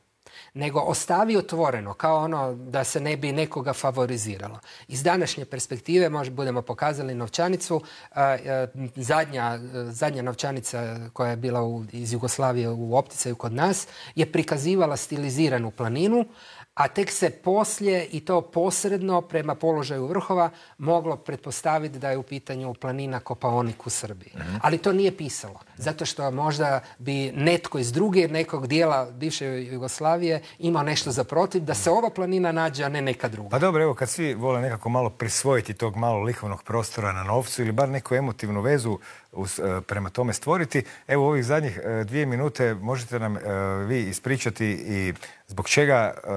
nego ostavi otvoreno, kao ono da se ne bi nekoga favoriziralo. Iz današnje perspektive možda budemo pokazali novčanicu. A, a, zadnja, zadnja novčanica koja je bila u, iz Jugoslavije u opticaju kod nas je prikazivala stiliziranu planinu, a tek se poslije i to posredno prema položaju vrhova moglo pretpostaviti da je u pitanju planina Kopaonik u Srbiji. Mm-hmm. Ali to nije pisalo, zato što možda bi netko iz druge nekog dijela bivše Jugoslavije imao nešto za protiv da se ova planina nađe, a ne neka druga. Pa dobro, evo kad svi vole nekako malo prisvojiti tog malo likovnog prostora na novcu ili bar neku emotivnu vezu Us, uh, prema tome stvoriti. Evo ovih zadnjih uh, dvije minute možete nam uh, vi ispričati i zbog čega uh,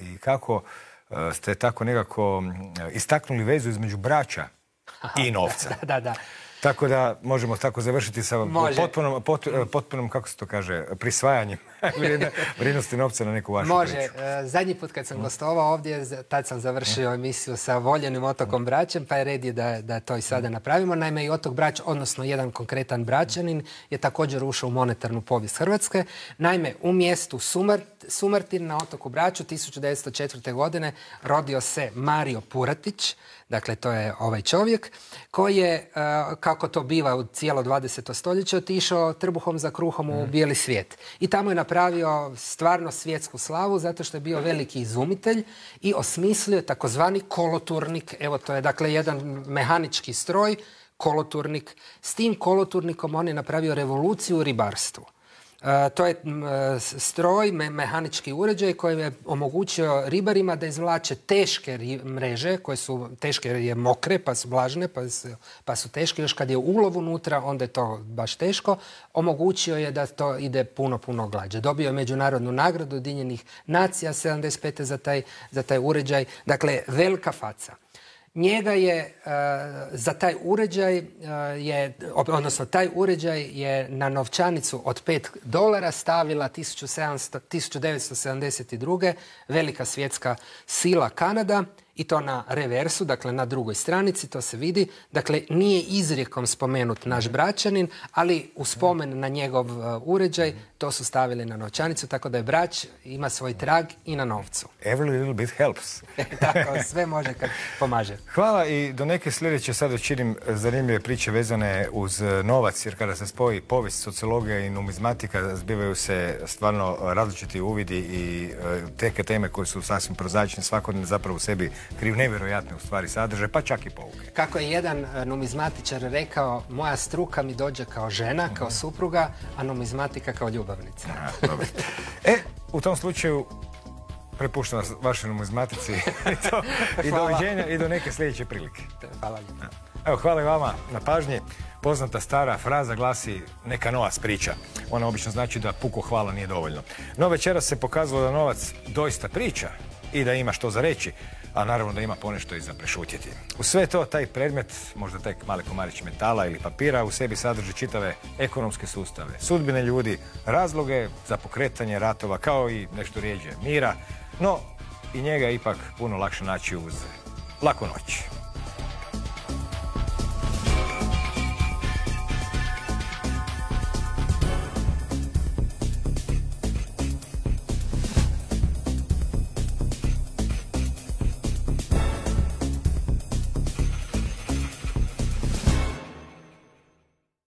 i kako uh, ste tako nekako uh, istaknuli vezu između braća i novca. Da, da, da. Tako da možemo tako završiti sa potpunom, pot, potpunom, kako se to kaže, prisvajanjem vrijednosti novca na neku vašu Može. priču. Može. Zadnji put kad sam gostovao ovdje, tad sam završio emisiju sa voljenim otokom Bračem, pa je red je da, da to i sada napravimo. Naime, i otok Brač, odnosno jedan konkretan Bračanin, je također ušao u monetarnu povijest Hrvatske. Naime, u mjestu Sumrt, Sumartin na otoku Braču tisuću devetsto četvrte. godine rodio se Mario Puratić, dakle to je ovaj čovjek, koji je, kako to biva u cijelo dvadeseto stoljeće, otišao trbuhom za kruhom u bijeli svijet. I tamo je napravio stvarno svjetsku slavu zato što je bio veliki izumitelj i osmislio takozvani koloturnik. Evo to je dakle jedan mehanički stroj, koloturnik. S tim koloturnikom on je napravio revoluciju u ribarstvu. To je stroj, mehanički uređaj koji je omogućio ribarima da izvlače teške mreže, koje su teške jer je mokre, pa su vlažne, pa su, pa su teške. Još kad je ulov unutra, onda je to baš teško. Omogućio je da to ide puno, puno glađe. Dobio je međunarodnu nagradu Ujedinjenih nacija sedamdeset pete za taj, za taj uređaj. Dakle, velika faca. Njega je uh, za taj uređaj, uh, je, odnosno taj uređaj je na novčanicu od pet dolara stavila tisuću devetsto sedamdeset druge velika svjetska sila Kanada i to na reversu, dakle na drugoj stranici, to se vidi. Dakle, nije izrijekom spomenut naš Bračanin, ali u spomen na njegov uh, uređaj to su stavili na novčanicu, tako da je Brač ima svoj trag i na novcu. Every little bit helps. Tako, sve može kad pomaže. Hvala i do neke sljedeće sad učinim zanimljive priče vezane uz novac, jer kada se spoji povijest, sociologija i numizmatika, zbivaju se stvarno različiti uvidi i teke teme koje su sasvim prozaične, svakodnevno zapravo u sebi kriju nevjerojatne u stvari sadržaje, pa čak i pouke. Kako je jedan numizmatičar rekao, moja struka mi dođe kao žena, kao supruga, a numizmatika kao ljubavnica. A, dobro. E, u tom slučaju prepuštam vas vašoj numizmatici i, to, i doviđenja i do neke sljedeće prilike. Hvala lijepo. Evo, hvala i vama na pažnji. Poznata stara fraza glasi neka novac priča. Ona obično znači da puko hvala nije dovoljno. No večeras se pokazalo da novac doista priča i da ima što za reći, a naravno da ima ponešto i za prešutjeti. U sve to, taj predmet, možda tek mali komarić metala ili papira, u sebi sadrži čitave ekonomske sustave, sudbine ljudi, razloge za pokretanje ratova, kao i nešto rijeđe mira, no i njega je ipak puno lakše naći uz laku noć.